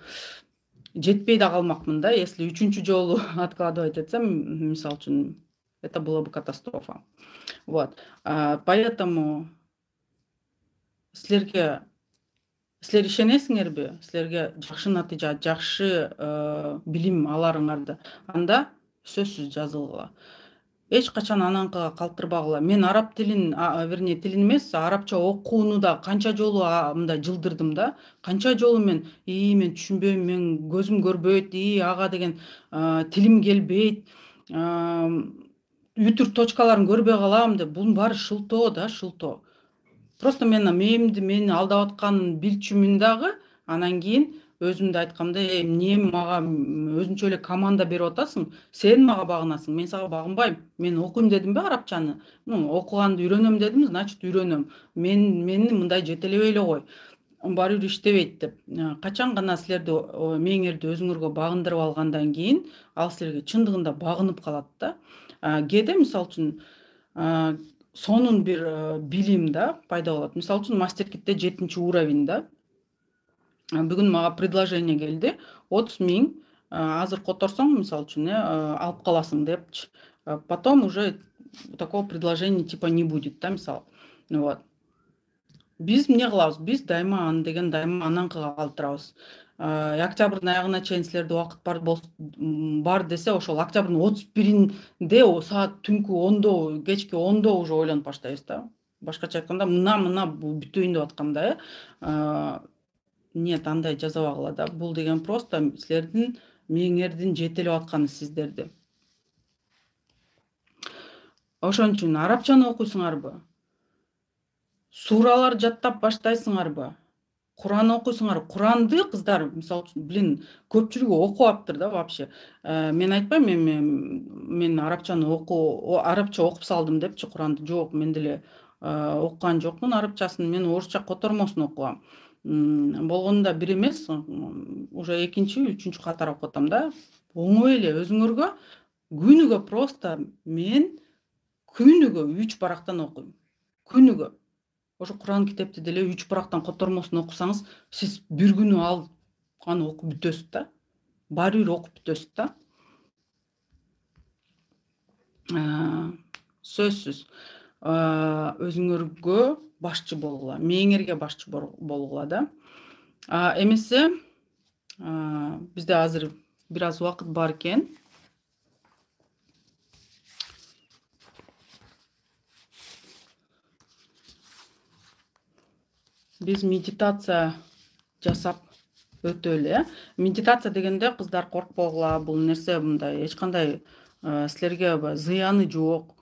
жетпей да калмакмын да. Если үчүнчү жолу откладывать этсем, мисалы үчүн, это была бы катастрофа. Вот. Поэтому силерге силер ишенесиңерби? Силерге жакшы натыйжа, жакшы билим аларыңарды анда сөзсүз жазылгыла. Эч качан ананкыга калтырбагыла. Мен араб тилин, вернее, тилин эмес, арабча окууну да канча жолу мындай жылдырдым да. Канча жолу мен, "И, мен түшүнбөйм, мен көзүм көрбөйт, и ага деген тилим келбейт, үтүр точкаларын көрбөй калам" деп. Бунун баары шылтоо да, шылтоо. Просто мен мээмди мени алдап атканын билчүмүн дагы, анан кийин өзүмдү айткамда, "Эй, эмне мага өзүнчө эле команда берип атасың? Сен мага багынасың, мен сага багынбайм. Мен окуйм дедимби арабчаны? Ну, окуганды үйрөнөм дедим, значит үйрөнөм. Мен мени мындай жетелебей эле кой. Баары бир иштебейт" деп. Качан гана силерди мээңерди өзүңөргө багындырып алгандан кийин, ал силерге чындыгында багынып калат да. Кээде мисалы үчүн сонун бир билим да пайда болот. Мисалы үчүн мастер-китте жетинчи уровень да. Бүгүн мага предложение келди. отуз миң азыр которсоң, мисалы үчүн, алып каласың депчи. Потом уже такого предложения типа не будет да, мисалы. Вот. Биз эмне кылабыз? Биз дайыма аны деген дайыма ананкыга калтырабыз. Октябрдын аягына чейин силерде убакыт бар бар десе, ошол октябрдын отуз биринде саат түнкү ондо, кечки ондо уже ойлонуп баштайбыз да. Башкача айтканда, мына мына бүтөйүн деп атканда, э нет, андай жазабагыла да. Бул деген просто силердин мээңердин жетелеп атканы сиздерди. Ошон үчүн арабчаны окуйсуңарбы? Суралар жаттап баштайсыңарбы? Куран окуйсуңарбы? Куранды кыздар, мисалы үчүн, блин, көпчүлүгү окубаптыр да вообще. Мен айтпайм, мен мен арабчаны оку, арабча окуп салдым депчи Куранды. Жок, мен деле окуган жокмун арабчасын. Мен орусча котормосун окугам. Болгондо бир эмес, уже экинчи, үчүнчү катар окуп атам да. Оңой эле өзүңөргө күнүгө просто мен күнүгө үч барактан окуйм. Күнүгө. Ошо Куран китепти деле үч барактан котормосун окусаңыз, сиз бир күнү ал аны окуп бүтөсүз да. Баары бир окуп бүтөсүз да. Сөзсүз өзүңөргө башчы болгула, мээңерге башчы болгула да. Эмесе бизде азыр бир аз убакыт бар экен. Биз медитация жасап өтөлү. Медитация дегенде кыздар коркпогула, бул нерсе мындай эч кандай силерге зыяны жок.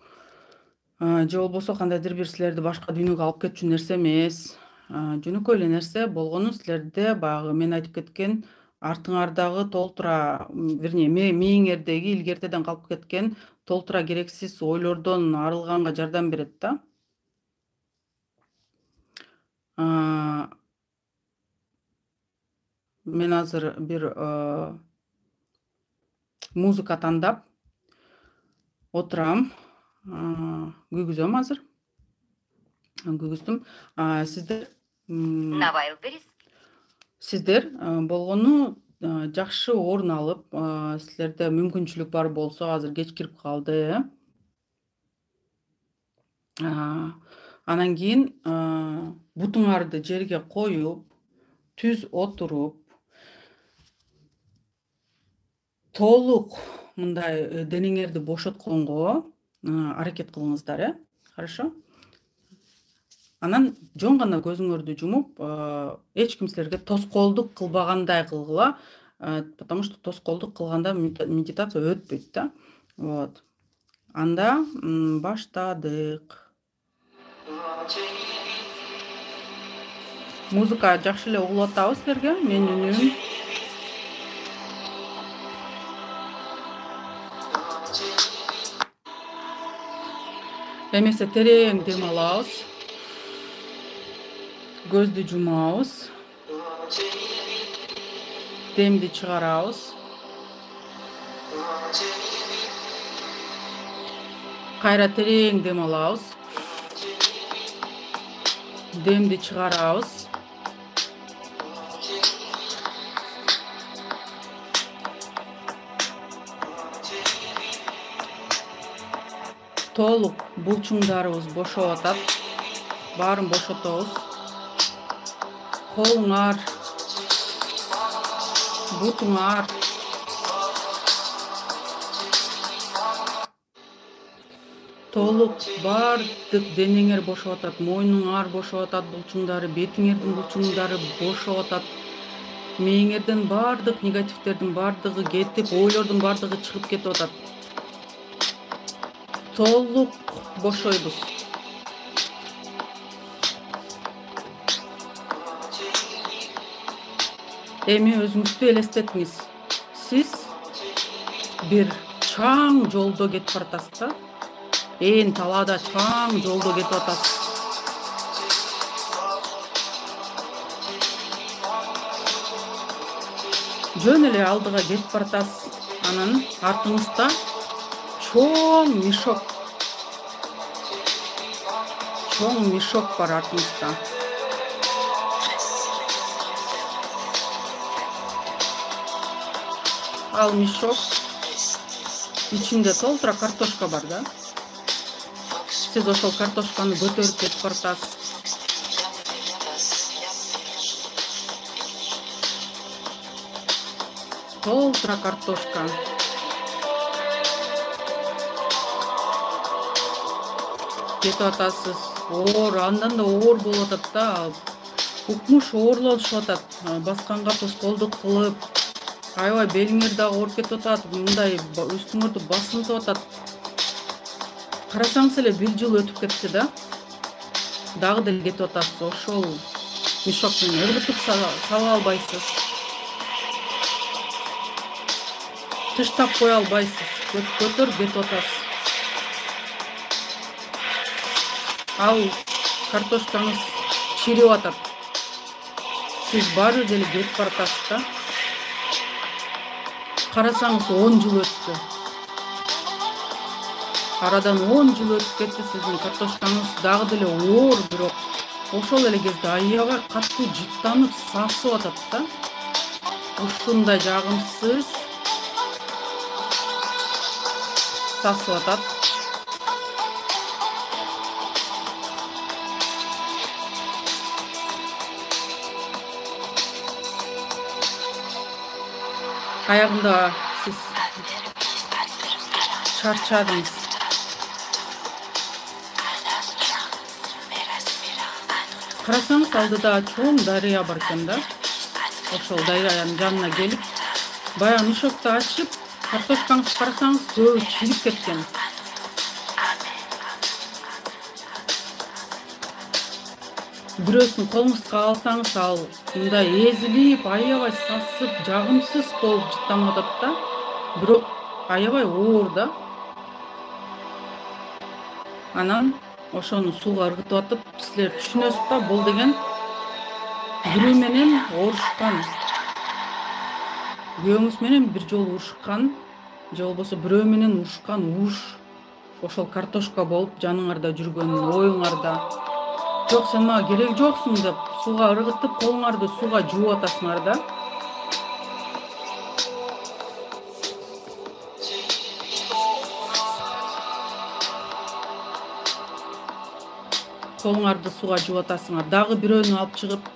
Же болбосо кандайдыр бир силерди башка дүйнөгө алып кетчү нерсе эмес. Жөнөкөй эле нерсе болгону силерде баягы мен айтып кеткен артыңардагы толтура, вернее, мээңердеги илгертеден калып кеткен толтура керексиз ойлордон арылганга жардам берет да. Мен азыр бир музыка тандап отурам. Күйгүзөм азыр. Күйгүздүм. Сиздер На Wildberries Сиздер болгону жакшы орун алып, силерде мүмкүнчүлүк бар болсо, азыр кеч кирип калды, э. Анан кийин бутуңарды жерге коюп, түз отуруп, толук мындай денеңерди бошотконго аракет кылыңыздар, э. Хорошо? Анан жөн гана көзүңөрдү жумуп, эч ким силерге тоскоолдук кылбагандай кылгыла, потому что тоскоолдук кылганда медитация өтпөйт да. Вот. Анда баштадык. Музыка жакшы эле угулуп атабы силерге? Менин үнүм. Эмесе терең дем алабыз. Көздү жумабыз. Демди чыгарабыз. Кайра терең дем алабыз. Демди чыгарабыз. Толук булчуңдарыбыз бошоп атат. Баарын бошотобуз. Колуңар, бутуңар, толук баардык денеңер бошоп атат. Мойнуңар бошоп атат, булчуңдары, бетиңердин булчуңдары бошоп атат. Мээңерден баардык негативдердин баардыгы кетип, ойлордун баардыгы чыгып кетип атат. Толук бошойбуз. Эми өзүңүздү элестетиңиз. Сиз бир чаң жолдо кетип баратасыз да. Ээн талаада чаң жолдо кетип атасыз. Жөн эле алдыга кетип баратасыз. Анан артыңызда чоң мешок. Чоң мешок бар артыңызда. Ал мешок ичинде толтура картошка бар да. Сиз ошол картошканы көтөрүп кетип баратасыз. Толтура картошка. Кетип атасыз. Оор, андан да оор болуп атат да. Укмуш оорлошуп атат. Басканга тоскоолдук кылып, аябай белиңер дагы ооруп кетип атат. Мындай үстүңөрдү басынтып атат. Карасаңыз эле бир жыл өтүп кетти да. Дагы деле кетип атасыз. Ошол мешок менен ыргытып сала албайсыз. Тыштап кое албайсыз. Көтөрүп кетип атасыз. Ал картошкаңыз чирип атат. Сиз баары деле кетип баратасыз да. Карасаңыз он жыл өттү. Арадан он жыл өтүп кетти, сиздин картошкаңыз дагы деле оор, бирок ошол эле кезде аябай катуу жыттанып, сасып атат да. Ушундай жагымсыз сасып атат. Аягында сиз чарчадыңыз. Карасаңыз алдыда чоң дарыя бар экен да. Ошол дарыянын жанына келип, баягы мешокду ачып, картошкаңызды карасаңыз көбү чирип кеткен. Бирөөсүн колуңузга алсаңыз, ал мындай эзилип, аябай сасып, жагымсыз болуп жыттанып атат да. Бирок аябай оор да. Анан ошону сууга ыргытып атып, силер түшүнөсүз да, бул деген бирөө менен урушкан. Күйөөңүз менен бир жолу урушкан, же болбосо бирөө менен урушкан уруш ошол картошка болуп жаныңарда жүргөн, оюңарда. жок сен мага кереги жоксуң деп сууга ыргытып колуңарды сууга жууп атасыңар да. Колуңарды сууга жууп атасыңар. Дагы бирөөнү алып чыгып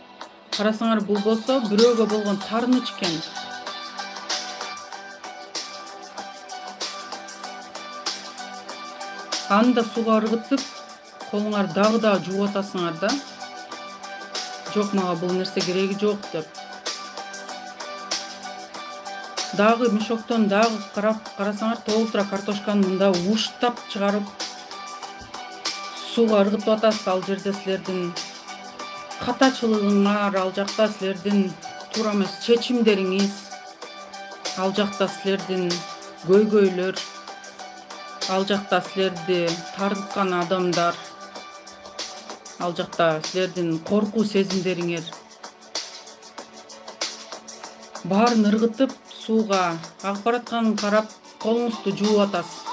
карасаңар, бул болсо бирөөгө болгон тарыныч экен. Аны да сууга ыргытып, колуңарды дагы да жууп атасыңар да. Жок, мага бул нерсе кереги жок деп. Дагы мешоктон дагы карап карасаңар, толтура картошканы мында ууштап чыгарып сууга ыргытып атасыз. Ал жерде силердин катачылыгыңар, ал жакта силердин туура эмес чечимдериңиз, ал жакта силердин көйгөйлөр, ал жакта силерди тарткан адамдар, ал жакта силердин коркуу сезимдериңер баарын ыргытып сууга агып баратканын карап колуңузду жууп атасыз.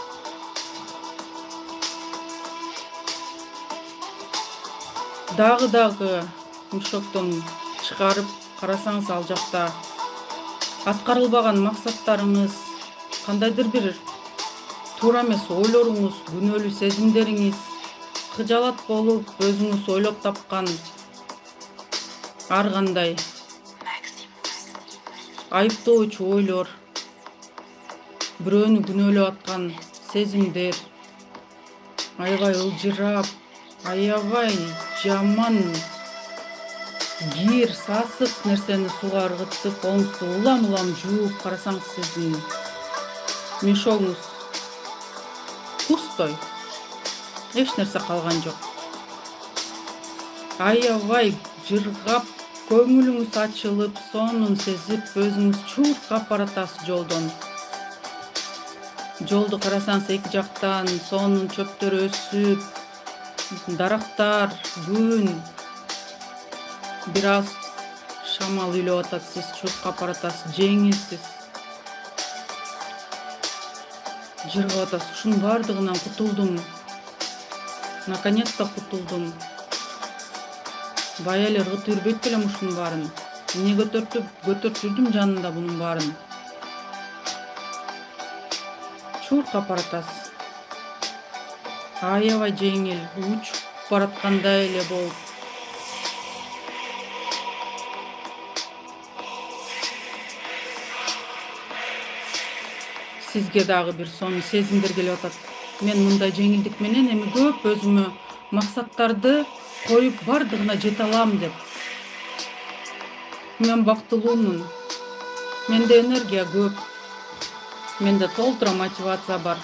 Дагы дагы мешоктон чыгарып карасаңыз, ал жакта аткарылбаган максаттарыңыз, кандайдыр бир туура эмес ойлоруңуз, күнөөлүү сезимдериңиз, кыжалат болуп өзүңүз ойлоп тапкан ар кандай айыптоочу ойлор, бирөөнү күнөөлөп аткан сезимдер, аябай ылжырап, аябай жаман кир, сасык нерсени сууга ыргытып, колуңузду улам-улам жууп карасаңыз, сиздин мешогуңуз пустой. Эч нерсе калган жок. Аябай жыргап, көңүлүңүз ачылып, сонун сезип, өзүңүз чуркап баратасыз жолдон. Жолду карасаңыз, эки жактан сонун чөптөр өсүп, дарактар, күн, бир аз шамал үйлөп атат, сиз чуркап баратасыз, жеңилсиз. Жыргап атасыз. Ушунун бардыгынан кутулдум. Наконец-то кутулдум. Бая эле ыргытып жүрбөйт белем ушунун баарын. Эмне көтөртүп, көтөрүп жүрдүм жанында бунун баарын. Чуркап баратасыз. Аябай жеңил, учуп бараткандай эле болуп. Сизге дагы бир сонун сезимдер келип атат. Мен мындай жеңилдик менен эми көп өзүмө максаттарды коюп бардыгына жете алам деп. Мен бактылуумун. Менде энергия көп. Менде толтура мотивация бар.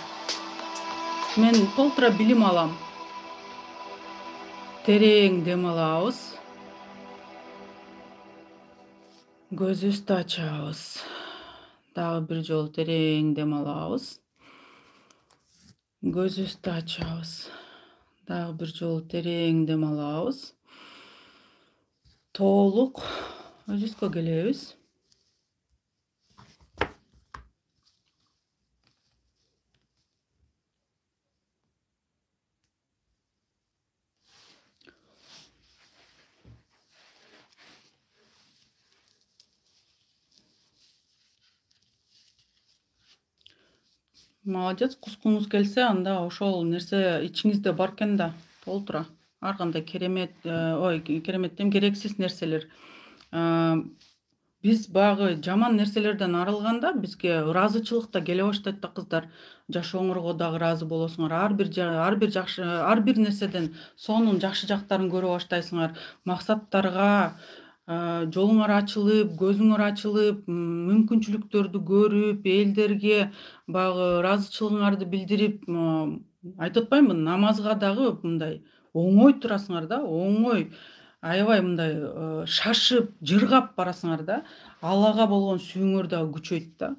Мен толтура билим алам. Терең дем алабыз. Көзүбүздү ачабыз. Дагы бир жолу терең дем алабыз. Көзүбүздү ачабыз. Дагы бир жолу терең дем алабыз. Толук өзүбүзгө келебиз. Молодец, кускуңуз келсе, анда ошол нерсе ичиңизде бар экен да, толтура. Ар кандай керемет, ой, керемет дем, керексиз нерселер. Биз багы жаман нерселерден арылганда бизге ыраазычылык да келе баштайт да, кыздар. Жашооңорго дагы ыраазы болосуңар. Ар бир ар бир жакшы, ар бир нерседен сонун жакшы жактарын көрө баштайсыңар. Максаттарга жолуңар ачылып, көзүңөр ачылып, мүмкүнчүлүктөрдү көрүп, элдерге багы ыраазычылыгыңарды билдирип, айтып атпаймынбы, намазга дагы мындай оңой турасыңар да, оңой, аябай мындай шашып, жыргап барасыңар да. Аллага болгон сүйүүңөр дагы күчөйт да.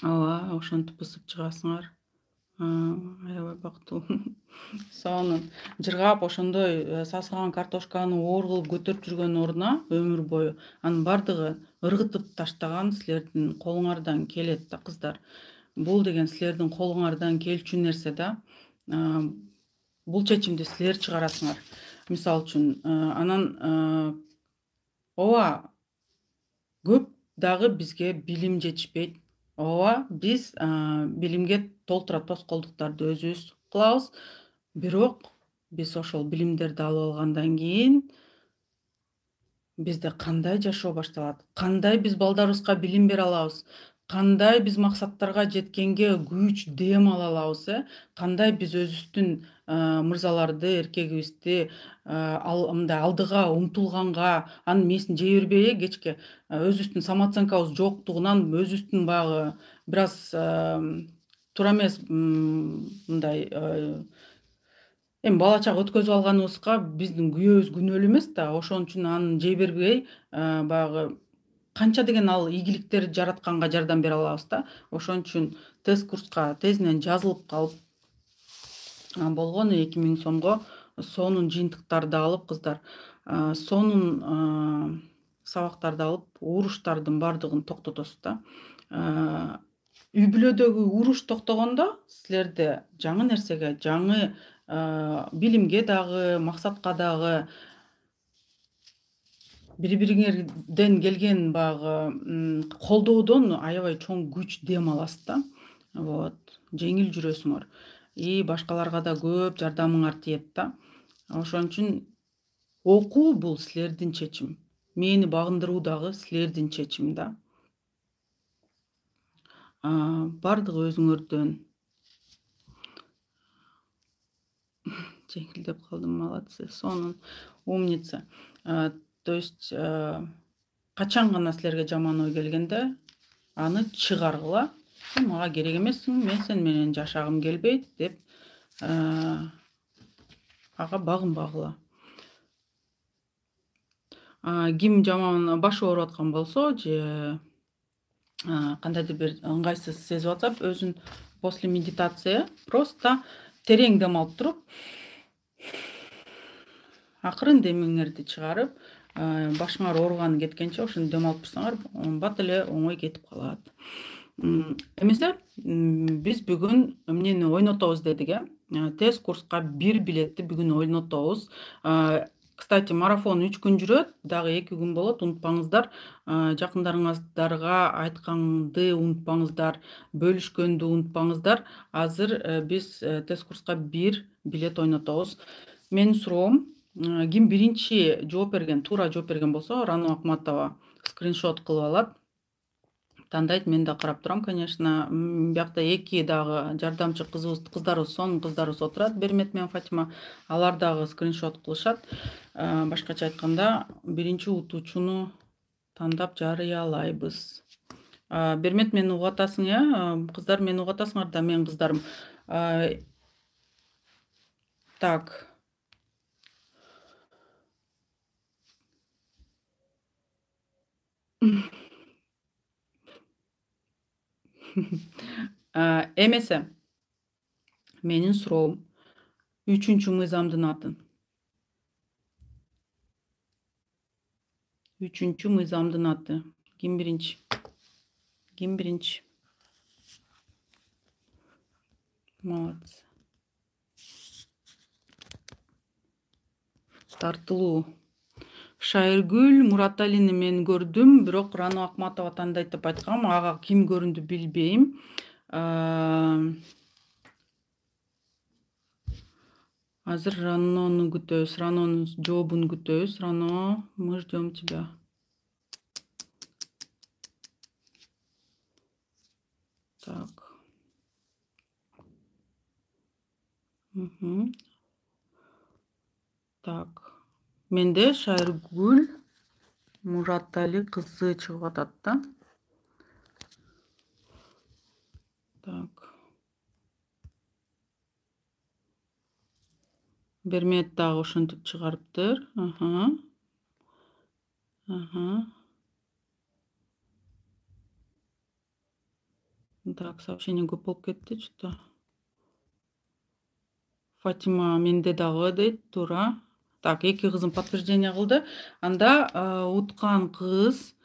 Ооба, ошентип бысып чыгасыңар. Аябай бактылуу. Сонун жыргап, ошондой сасыган картошканы оор кылып көтөрүп жүргөн ордуна өмүр бою анын бардыгы ыргытып таштаган силердин колуңардан келет да, кыздар. Бул деген силердин колуңардан келчү нерсе да. бул чечимди силер чыгарасыңар. Мисалы үчүн анан ооба көп дагы бизге билим жетишпейт. Ооба биз билимге толтура тоскоолдуктарды өзүбүз кылабыз. Бирок биз ошол билимдерди алып алгандан кийин бизде кандай жашоо башталат? Кандай биз балдарыбызга билим бере алабыз? Кандай биз максаттарга жеткенге күч, дем ала алабыз, э? Кандай биз өзүбүздүн мырзаларды, эркегибизди мындай алдыга умтулганга, анын мээсин жей бербей, э, кечке өзүбүздүн самооценкабыз жоктугунан өзүбүздүн баягы бир аз туура эмес мындай эми бала чак өткөзүп алганыбызга биздин күйөөбүз күнөөлүү эмес да. Ошон үчүн аны жей бербей, баягы канча деген ал ийгиликтерди жаратканга жардам бере алабыз да. Ошон үчүн тест курска тезинен жазылып калып, болгону эки миң сомго сонун жыйынтыктарды алып кыздар, сонун сабактарды алып, уруштардын бардыгын токтотосуз да. Үй бүлөдөгү уруш токтогондо силерде жаңы нерсеге, жаңы билимге дагы, максатка дагы бири бириңерден келген баягы колдоодон аябай чоң күч, дем аласыз да. Вот. Жеңил жүрөсүңөр. И башкаларга да көп жардамыңар тиет да. Ошон үчүн окуу бул силердин чечим. Мени багындыруу дагы силердин чечим да. Бардыгы өзүңөрдөн. Жеңилдеп калдым, молодцы, сонун, умница. То есть качан гана силерге жаман ой келгенде аны чыгаргыла. Сен мага керек эмессиң, мен сен менен жашагым келбейт деп ага багынбагыла. Ким жаман башы ооруп аткан болсо же кандайдыр бир ыңгайсыз сезип атса, өзүн после медитация просто терең дем алып туруп, акырын демиңерди чыгарып, башыңар ооруганы кеткенче ошондо дем алып турсаңар, бат эле оңой кетип калат. Эмесе биз бүгүн эмнени ойнотобуз дедик, э? Тест курска бир билетти бүгүн ойнотобуз. Кстати, марафон үч күн жүрөт, дагы эки күн болот, унутпаңыздар. Жакындарыңыздарга айтканды унутпаңыздар, бөлүшкөндү унутпаңыздар. Азыр биз тест курска бир билет ойнотобуз. Менин суроом, ким биринчи жооп берген, туура жооп берген болсо, Рано Акматова скриншот кылып алат. Тандайт, мен да карап турам, конечно. Биякта эки дагы жардамчы кызыбыз, кыздарыбыз, сонун кыздарыбыз отурат, Бермет менен Фатима. Алар дагы скриншот кылышат. Башкача айтканда, биринчи утуучуну тандап жарыялайбыз. Бермет, мени угуп атасың, э? Кыздар, мени угуп атасыңар да, мен кыздарым. Так. Эмесе, менин суроом, үчүнчү мыйзамдын аты. Үчүнчү мыйзамдын аты. Ким биринчи? Ким биринчи? Молодцы. Тартылуу. Шайыргүл Мураталини мен көрдүм, бирок Рано Акматова тандайт деп айткам. Ага ким көрүндү билбейм. Азыр Ранону күтөбүз, Ранонун жообун күтөбүз. Рано, мы ждем тебя. Так. Угу. Так. Менде Шайыргүл Муратали кызы чыгып атат да. Так. Бермет дагы ошентип чыгарыптыр. Ага. Ага. Так, сообщение көп болуп кетти, что-то. Фатима менде дагы дейт, туура. Так, эки кызым подтверждение кылды. Анда уткан кыз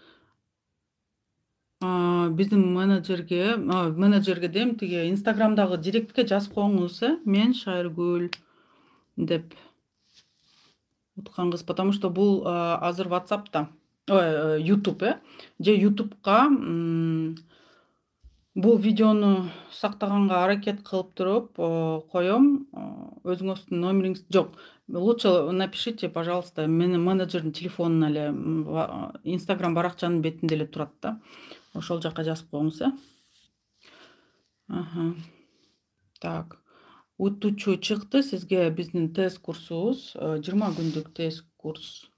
биздин менеджерге, менеджерге дейм, тиги Инстаграмдагы директке жазып коюңуз, э? Мен Шайыргүл. деп уткан кыз, потому что бул азыр WhatsApp'та, ой, YouTube э же YouTube'га бул видеону сактаганга аракет кылып туруп коем. Өзүңүздүн номериңиз жок. Лучше напишите, пожалуйста, менин менеджердин телефонуна эле, Instagram баракчанын бетинде эле турат да. Ошол жака жазып коюңуз, э. Аха. Так. Утуучу чыкты. Сизге биздин тест курсубуз, жыйырма күндүк тест курс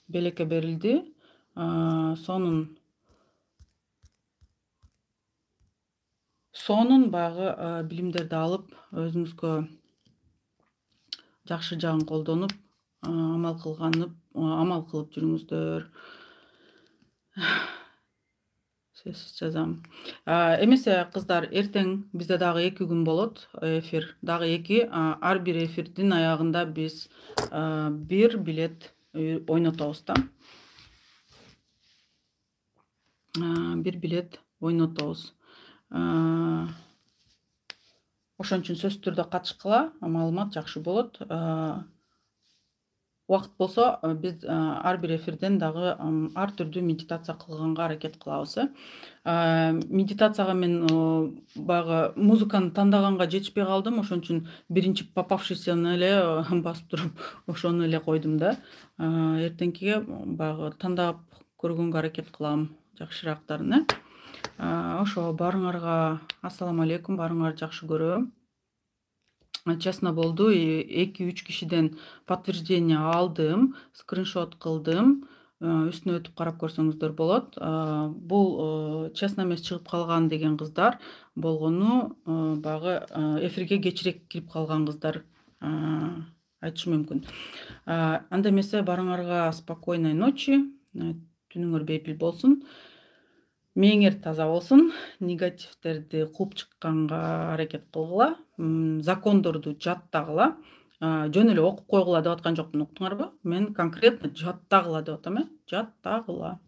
белекке берилди. Сонун сонун баягы билимдерди алып, өзүңүзгө жакшы жагын колдонуп, амал кылганып, амал кылып жүрүңүздөр. Сөзсүз жазам. Эмесе кыздар, эртең бизде дагы эки күн болот эфир. Дагы эки. Ар бир эфирдин аягында биз бир билет ойнотобуз да. Бир билет ойнотобуз. Ошон үчүн сөзсүз түрдө катышкыла, маалымат жакшы болот. Убакыт болсо, биз ар бир эфирден дагы ар түрдүү медитация кылганга аракет кылабыз. Медитацияга мен баягы музыканы тандаганга жетишпей калдым, ошон үчүн биринчи попавшийсяны эле басып туруп, ошону эле койдум да. Эртеңкиге баягы тандап көргөнгө аракет кылам жакшыраактарын, э. Ошо баарыңарга ассаламу алейкум, баарыңарды жакшы көрөм. Честно болду, эки үч кишиден подтверждение алдым, скриншот кылдым. Үстүнө өтүп карап көрсөңүздөр болот. Бул честно эмес чыгып калган деген кыздар болгону баягы эфирге кечирээк кирип калган кыздар айтышым мүмкүн. Анда эмесе баарыңарга спокойной ночи, түнүңөр бейпил болсун. Мээңер таза болсун, негативтерди кууп чыкканга аракет кылгыла, закондорду жаттагыла. Жөн эле окуп койгула деп аткан жокмун, уктуңарбы? Мен конкретно жаттагыла деп атам, э. Жаттагыла.